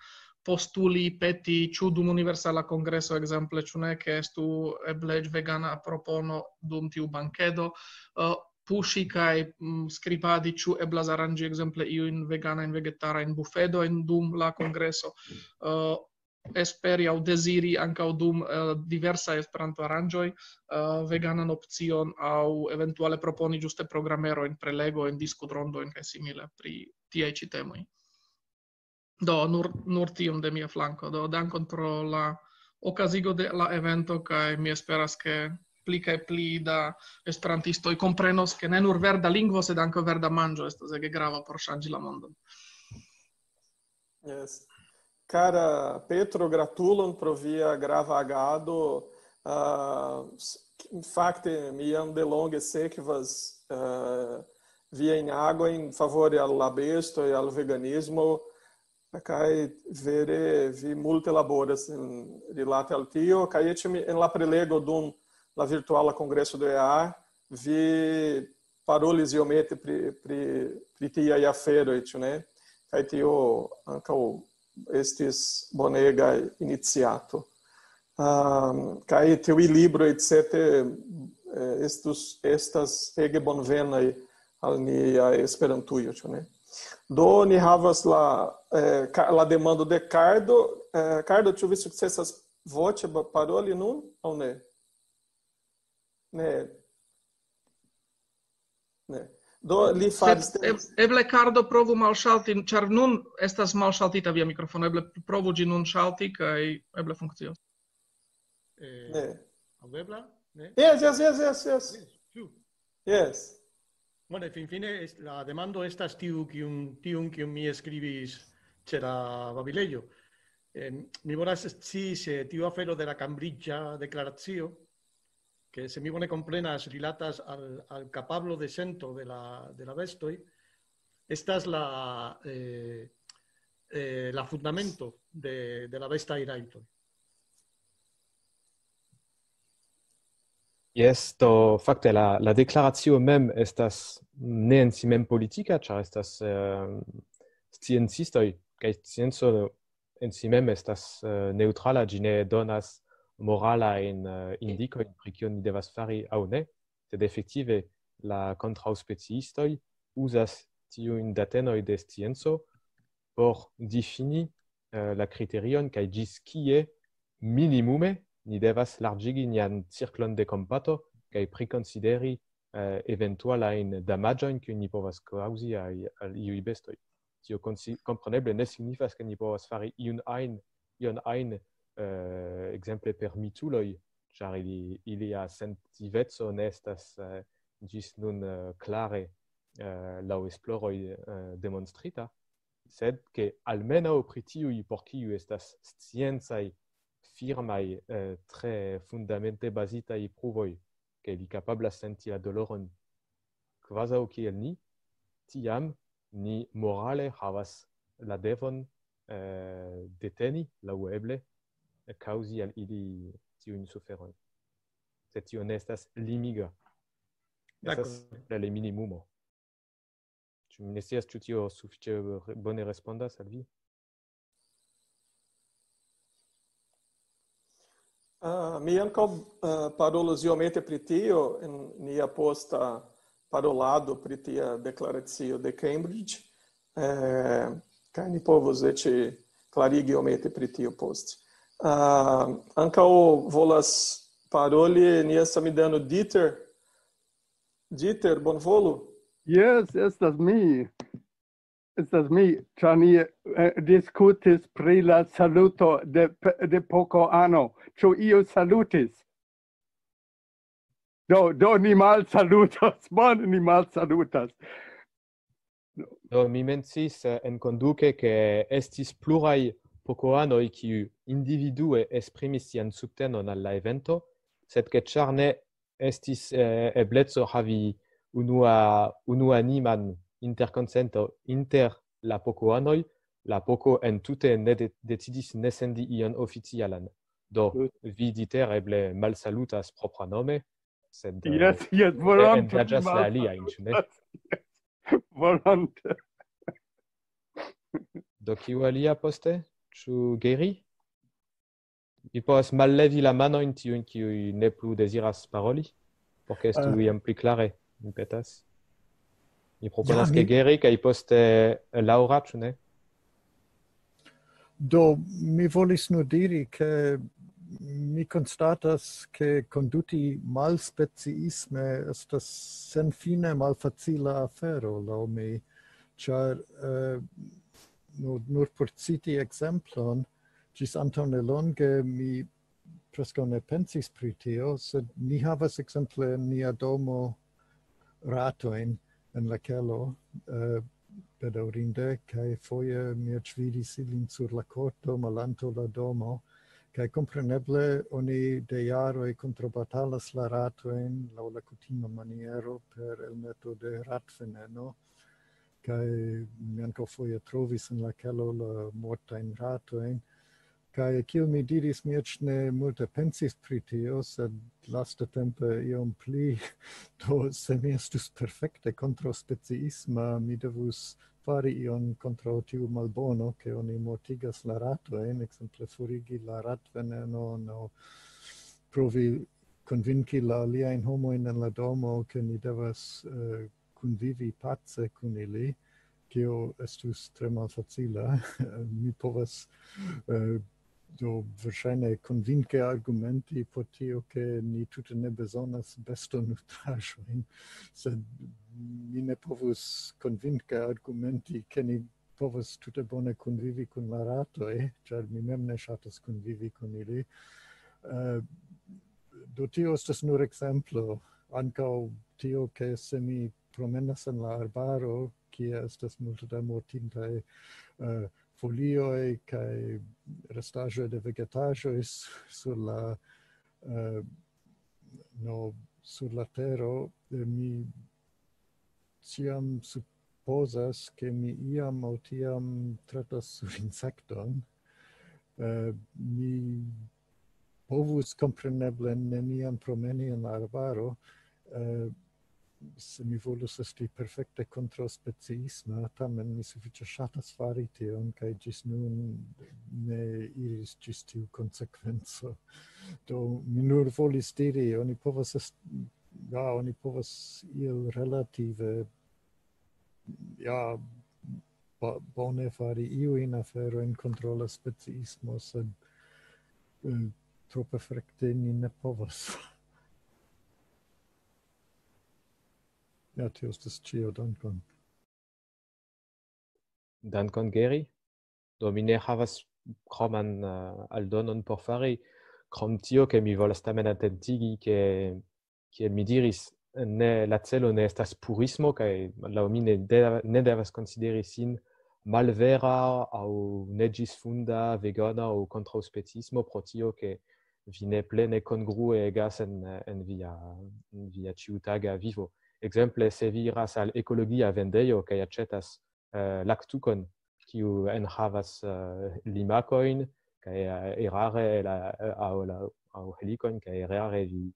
Postuli, peti, ĉu dum Universala Kongreso, ekzemple, ĉu ne, ke estu eble eĉ vegana propono dum tiu bankedo, eh, puŝi kaj, mm, skribadi, ĉu eblas aranĝi, ekzemple, iujn veganajn, vegetarajn bufedojn dum la kongreso. Eh, esperi aŭ deziri ankaŭ dum, eh, diversaj Esperanto-aranĝoj, eh, veganan opcion aŭ eventuale proponi ĝuste programerojn, prelegojn, diskutrondojn kaj simile pri tiaj ĉi temoj. Do, nur, nur tiom de mia flanko. Do, dankon pro la okazigo de la evento, kaj mi esperas, ke pli kaj pli da esperantistoj komprenos, ke ne nur verda lingvo, sed ankaŭ verda manĝo estas ege grava por ŝanĝi la mondon. Yes. Cara Petro, gratulon pro via grava agado. Ah, s-, fakte, mi jam delonge sekvas, ah, viajn agojn favore al la bestoj, al veganismo, kaj vere vi multe laboras en, rilate al tio, kaj eĉ mi, en la prelego dum la virtuala kongreso de E A, vi parolis iomete pri, pri, pri tiaj aferoj, ĉu ne? Kaj tio ankaŭ estis bonega iniciato. Ehm, kaj tiuj libroj, et cetera, eh, estus, estas ege bonvenaj al nia Esperantujo, ĉu ne? Do, ni havas la, eh, ka-, la demando de Cardo. Eh, Cardo, ĉu vi sukcesas voĉe ba-, paroli nun, aŭ ne? Ne. Ne. Do, li Sed faris te- eb-, eble, Cardo, provu malŝalti, ĉar nun estas malŝaltita via mikrofono. Eble provu ĝi nun ŝalti, kaj eble funkcios. Eh, Ne. Aŭdebla? Ne? Yes, yes, yes, yes, yes. Yes, ĉu? Yes. Bueno, finfine, es-, la demando estas tiu, kiun, tiun, kiun mi skribis ĉe la babilejo. Eh, mi volas scii se tiu afero de la Cambridgea deklaracio, ke se mi bone komprenas, rilatas al, al kapablo de sento de la, de la bestoj, estas la, eh, eh, la fundamento de, de la bestaj rajtoj. Jes, do fakte la, la deklaracio mem estas ne en si mem politika, ĉar estas eh, sciencistoj, kaj scienco en si mem estas eh, neŭtrala, ĝi ne donas moralajn eh, indikojn pri kion ni devas fari aŭ ne, sed efektive la kontraŭspeciistoj uzas tiujn datenoj de scienco por difini eh, la kriterion kaj ĝis kie minimume ni devas larĝigi nian cirklon de kompato kaj prikonsideri eh, eventualajn damaĝojn, kiujn ni povas kaŭzi al, al iuj bestoj. Tio konsi- kompreneble ne signifas, ke ni povas fari iun ajn, ion ajn, eh, ekzemple per mituloj, ĉar ili, ilia sentiveco ne estas eh, ĝis nun eh, klare eh, laŭ esploroj eh, demonstrita, sed ke almenaŭ pri tiuj, por kiuj estas sciencaj, firmaj, eh, tre fundamente bazitaj pruvoj, ke ili kapablas senti la doloron kvazaŭ kiel ni, tiam ni morale havas la devon eh, deteni, laŭeble, kaŭzi al ili tiujn suferojn. Sed tio ne estas limiga. Estas D'accord. La minimumo. Ĉu mi ne scias, ĉu tio sufiĉe re- bone respondas al vi? Ah, mi ankaŭ ah, parolos iomete pri tio en nia posta parolado pri tia deklaracio de Cambridge, eh, kaj ni povos eĉ klarigi iomete pri tio poste. Ah, ankaŭ volas paroli nia samidano Dieter. Dieter, bonvolu. Jes, estas mi. Estas mi, ĉar ni eh, diskutis pri la saluto de, de Poco Ano. Ĉu iu salutis? Do, do ni malsalutas, bone ni malsalutas. Do, mi mencis eh, en konduke, ke estis pluraj Pocoanoj, kiuj individue esprimis sian subtenon al la evento, sed ke ĉar ne estis eh, ebleco havi unua, unuaniman interkonsento inter la Pocoanoj, la Poco entute ne de- decidis ne sendi ion oficialan. Do, vi, Dieter, eble malsalutas propranome, sed eh, Jes, jes, volonte. Engaĝas la aliajn, ĉu ne? Volonte. Do, kiu alia poste? Ĉu Geri? Mi povas mallevi la manojn tiujn, kiuj ne plu deziras paroli, por ke estu Ah. Iam pli klare, mi petas. Mi proponas, Ja, ke mi- Geri, kaj poste Laura, ĉu ne? Do, mi volis nur diri, ke mi konstatas, ke konduti malspeciisme estas senfine malfacila afero, laŭ mi, ĉar eh, nur, nur por citi ekzemplon, ĝis antaŭ nelonge mi preskaŭ ne pensis pri tio, sed ni havas ekzemple en nia domo ratojn en la kelo, eh, bedaŭrinde, kaj foje mi eĉ vidis ilin sur la korto malantaŭ la domo, kaj kompreneble oni de jaroj kontrabatalas la ratojn laŭ la kutima maniero per elmeto de ratveneno, kaj mi ankaŭ foje trovis en la kelo la mortajn ratojn, kaj kiel mi diris, mi eĉ ne multe pensis pri tio, sed lastatempe iom pli, do se mi estus perfekte kontraŭspeciisma, mi devus fari ion kontraŭ tiu malbono, ke oni mortigas la ratojn, ekzemple forigi la ratvenenon, aŭ provi konvinki la aliajn homojn en la domo, ke ni devas eh, kunvivi pace kun ili, kio estus tre malfacila. Mi povas eh, do verŝajne konvinke argumenti por tio, ke ni tute ne bezonas bestonutraĵojn, sed mi ne povus konvinke argumenti, ke ni povas tute bone kunvivi kun la ratoj, ĉar mi mem ne ŝatas kunvivi kun ili. Eh, do tio estas nur ekzemplo. Ankaŭ tio, ke se mi promenas en la arbaro, kie estas multe da mortintaj eh, folioj kaj restaĵoj de vegetaĵoj s- sur la eh, no, sur la tero, eh, mi ĉiam supozas, ke mi iam aŭ tiam tratas sur insekton. Eh, mi povus kompreneble neniam promeni en la arbaro, eh, se mi volus esti perfekte kontraŭspeciisma, tamen mi sufiĉe ŝatas fari tion, kaj ĝis nun ne iris ĝis tiu konsekvenco. Do mi nur volis diri, oni povas est-, ja, oni povas iel relative, ja, bo-, bone fari iujn aferojn kontraŭ la speciismo, sed, eh, tro perfekte ni ne povas. Ja, tio estas ĉio, dankon. Dankon, Geri. Do, mi ne havas kroman, eh, aldonon por fari, krom tio, ke mi volas tamen atentigi, ke, kiel mi diris, ne, la celo ne estas purismo, kaj laŭ mi ne de-, ne devas konsideri sin malvera aŭ neĝisfunda vegana aŭ kontraŭspeciismo pro tio, ke vi ne plene kongruegas en, en via, en via ĉiutaga vivo. Ekzemple, se vi iras al ekologia vendejo kaj aĉetas, eh, laktukon, kiu enhavas, eh, limakojn, kaj, eh, erare la, eh, aŭ la, aŭ helikojn, kaj erare vi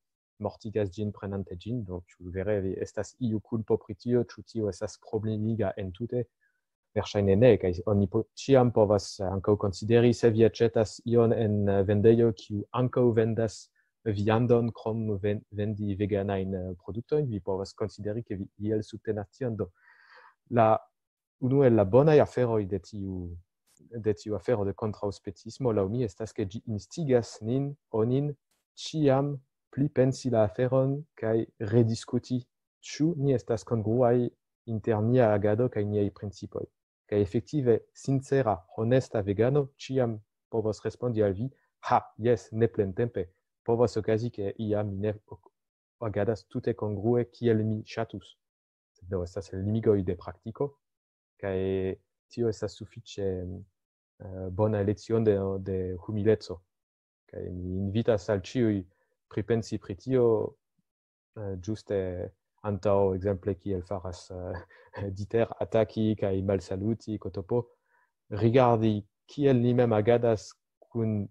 mortigas ĝin prenante ĝin, do ĉu vere vi, estas iu kulpo pri tio, ĉu tio estas problemiga entute? Verŝajne ne, kaj oni po-, ĉiam povas ankaŭ konsideri, se vi aĉetas ion en, eh, vendejo, kiu ankaŭ vendas viandon krom ven-, vendi veganajn, eh, produktojn, vi povas konsideri, ke vi iel subtenas tion. Do, la, unu el la bonaj aferoj de tiu, de tiu afero de kontraŭspeciismo, laŭ mi, estas, ke ĝi instigas nin, onin, ĉiam pli pensi la aferon kaj rediskuti, ĉu ni estas kongruaj inter nia agado kaj niaj principoj. Kaj efektive, sincera, honesta vegano ĉiam povos respondi al vi: "Ha, jes, ne plentempe. Povas okazi, ke iam mi ne ok-, agadas tute kongrue kiel mi ŝatus." Sed do estas limigoj de praktiko, kaj tio estas sufiĉe, eh, bona leciono de, de humileco. Kaj mi invitas al ĉiuj pripensi pri tio, eh, ĝuste antaŭ, ekzemple, kiel faras, eh, Dieter, ataki kaj malsaluti, Kotopo, rigardi kiel ni mem agadas kun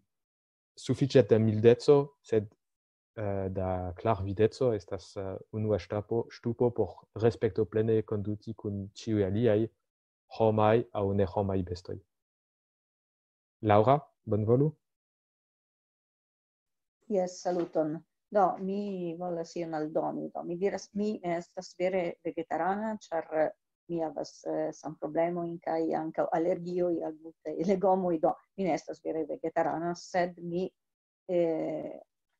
sufiĉe da mildeco, sed, eh, da klarvideco estas, eh, unua ŝtapo-, ŝtupo por respektoplene konduti kun ĉiuj aliaj homaj aŭ nehomaj bestoj. Laura, bonvolu. Jes, saluton. Do, mi volas ion aldoni. Do, mi diras, mi ne estas vere vegetarana, ĉar mi havas, eh, sanproblemojn kaj ankaŭ alergioj al multaj legomoj. Do, mi ne estas vere vegetarana, sed mi, eh,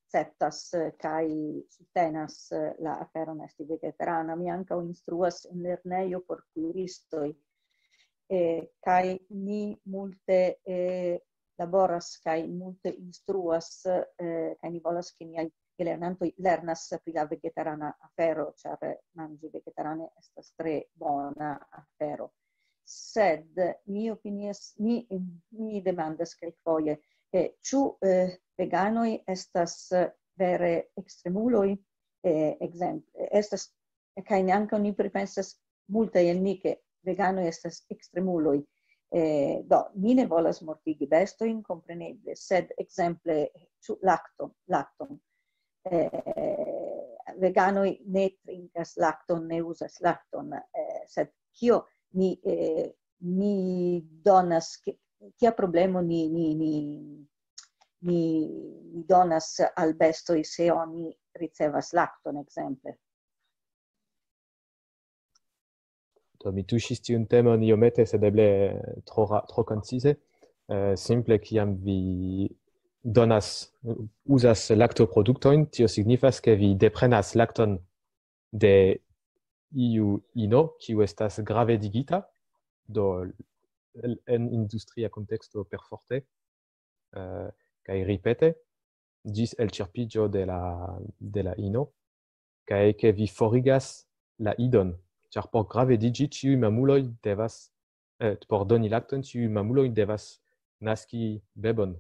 akceptas, eh, kaj subtenas, eh, la aferon esti vegetarana. Mi ankaŭ instruas en lernejo por kuiristoj, eh, kaj ni multe, eh, laboras kaj multe instruas, eh, kaj ni volas, ke niaj lernantoj lernas pri la vegetarana afero, ĉar manĝi vegetarane estas tre bona afero. Sed mi opinias, mi, mi demandas kelkfoje, eh, ĉu, eh, veganoj estas, eh, vere ekstremuloj? Eh, ekzemple, estas, kaj ni ankaŭ ni pripensas, multaj el ni, ke veganoj estas ekstremuloj. Eh, do, ni ne volas mortigi bestojn, kompreneble, sed ekzemple, ĉu lakton, lakton. Eh, veganoj ne trinkas lakton, ne uzas lakton, eh, sed kio ni, eh, ni donas, ki-, kia problemo ni, ni, ni, ni, ni donas al bestoj, se oni ricevas lakton, ekzemple? Do, mi tuŝis tiun temon iomete, sed eble tro ra-, tro koncize. Eh, simple, kiam vi donas, uzas laktoproduktojn, tio signifas, ke vi deprenas lakton de iu ino, kiu estas gravedigita, do, el-, en industria konteksto perforte, eh, kaj ripete, ĝis elĉerpiĝo de la, de la ino, kaj ke vi forigas la idon, ĉar por gravediĝi ĉiuj mamuloj devas, eh, por doni lakton, ĉiuj mamuloj devas naski bebon.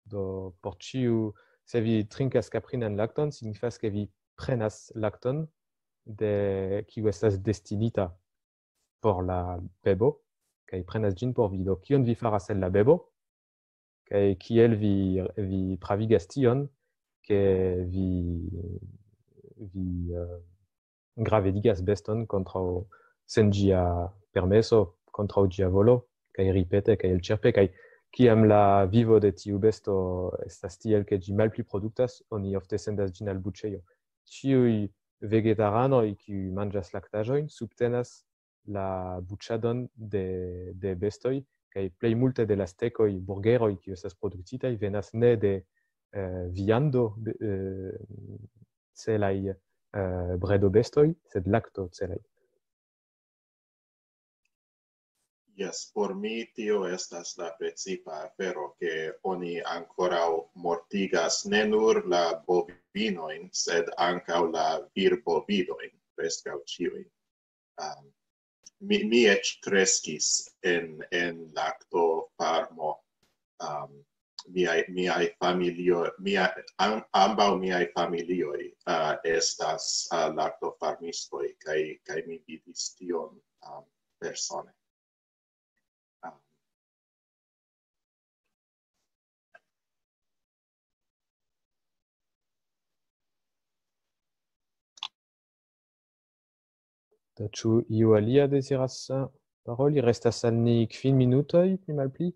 Do, por ĉiu, se vi trinkas kaprinan lakton, signifas, ke vi prenas lakton de, kiu estas destinita por la bebo, kaj prenas ĝin por vi. Do, kion vi faras el la bebo? Kaj kiel vi, vi pravigas tion? ke vi, vi eh, gravedigas beston kontraŭ sen ĝia permeso, kontraŭ ĝia volo, kaj ripete, kaj elĉerpe, kaj kiam la vivo de tiu besto estas tiel, ke ĝi malpli produktas, oni ofte sendas ĝin al buĉejo. Ĉiuj vegetaranoj, kiuj manĝas laktaĵojn, subtenas la buĉadon de, de bestoj, kaj plej multe de la stekoj, burgeroj, kiuj estas produktitaj, venas ne de eh, viando be- eh, celaj eh, bredobestoj, sed lakto celaj. Jes, por mi tio estas la precipa afero, ke oni ankoraŭ mortigas ne nur la bovinojn, sed ankaŭ la virbovidojn, preskaŭ ĉiujn. Um, mi, mi eĉ kreskis en, en lakto farmo. Um, miaj, miaj familio, mia, am, ambaŭ miaj familioj uh, estas uh, laktofarmistoj, kaj, kaj mi vidis tion um, persone. Um, Do, ĉu iu alia deziras eh, paroli? Restas al ni kvin minutoj, pli malpli.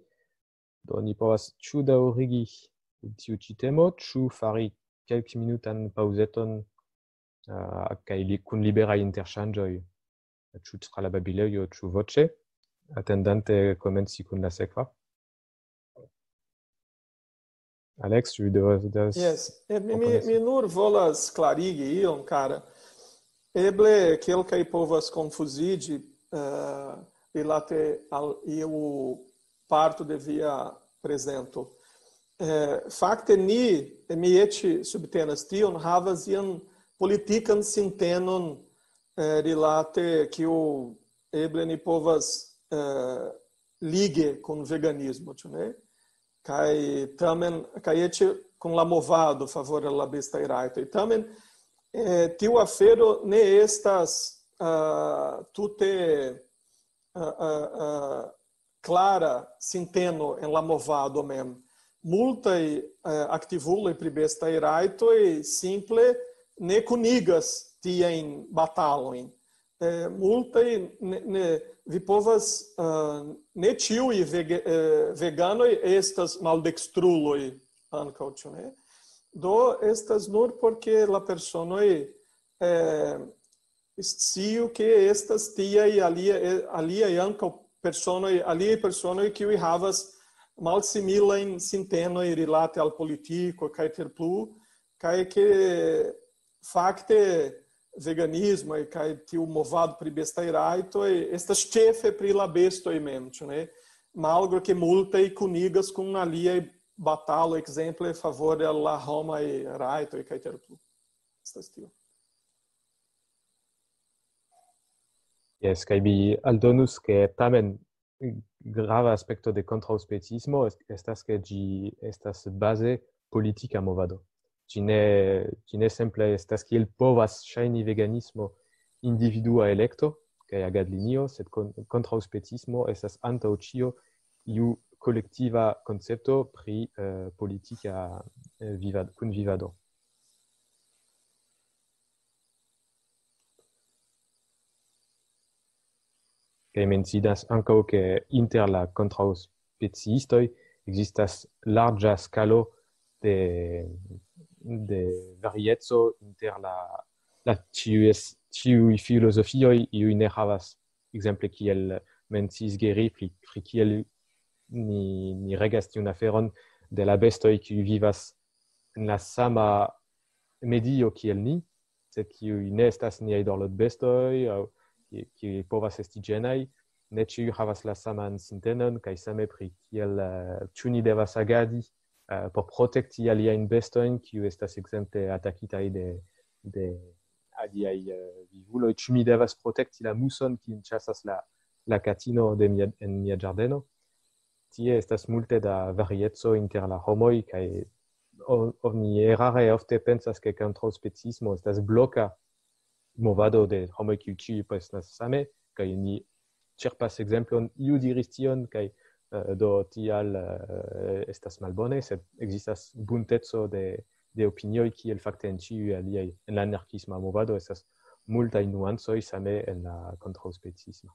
Do, ni povas ĉu daŭrigi tiu ĉi temo, ĉu fari kelkminutan paŭzeton eh, kaj li, kun liberaj interŝanĝoj, ĉu tra la babilejo, ĉu voĉe, atendante komenci kun la sekva. Alex, ĉu vi devas... Yes, eh, mi, mi, mi nur volas klarigi ion, kara. Eble kelkaj povas konfuziĝi eh, rilate al iu parto de via prezento. Eh, fakte ni, mi eĉ subtenas tion, havas ian politikan sintenon eh, rilate kiu eble ni povas eh, lige kun veganismo, ĉu ne? Kaj tamen, kaj eĉ kun la movado favore al la bestaj rajtoj. Tamen eh, tiu afero ne estas uh, tute uh, uh, uh, klara sinteno en la movado mem. Multaj uh, aktivuloj pri bestaj rajtoj simple ne kunigas tiajn batalojn. Eh, multaj ne, ne, vi povas uh, ne ĉiuj vege, eh, veganoj estas maldekstruloj ankaŭ, ĉu ne? Do estas nur porque la personoj eh, sciu ke estas tiaj aliaj, eh, aliaj ankaŭ personoj, aliaj personoj kiuj havas malsimilajn sintenoj rilate al politiko kaj tiel plu, kaj ke fakte veganismo kaj tiu movado pri bestaj rajtoj estas ĉefe pri la bestoj mem, ĉu ne? Malgro ke multaj kunigas kun aliaj batalo, ekzemple favore al la homaj rajtoj kaj tiel plu. Estas tio. Yes, kaj vi aldonus ke tamen grava aspekto de kontraŭspeciismo est- estas ke ĝi estas baze politika movado. Ĝi ne, ĝi ne simple estas kiel povas ŝajni veganismo individua elekto kaj agadlinio, sed kon- kontraŭspeciismo estas antaŭ ĉio iu kolektiva koncepto pri eh, politika eh, vivad- kunvivado. Kaj mencias ankaŭ ke inter la kontraŭspeciistoj ekzistas larĝa skalo de, de varieco inter la, la ĉiuj, es- ĉiuj filozofioj, iuj ne havas, ekzemple kiel menciis Geri, pri, pri kiel ni, ni regas tiun aferon de la bestoj, kiuj vivas en la sama medio kiel ni, sed kiuj ne estas niaj dorlotbestoj, aŭ ki- kiuj povas esti ĝenaj, ne ĉiuj havas la saman sintenon, kaj same pri kiel eh, ĉu ni devas agadi eh, por protekti aliajn bestojn, kiuj estas ekzemple atakitaj de, de aliaj eh, vivuloj, ĉu mi devas protekti la muson, kiun ĉasas la, la katino de mia, en mia ĝardeno. Tie estas multe da varieco inter la homoj, kaj o- oni erare ofte pensas, ke kontraŭspeciismo estas bloka movado de homoj, kiuj ĉiuj pensas same, kaj ni ĉerpas ekzemplon, iu diris tion, kaj eh, do tial eh, estas malbone, sed ekzistas bunteco de, de opinioj kiel fakte en ĉiuj aliaj. En la anarkisma movado estas multaj nuancoj, same en la kontraŭspecisma.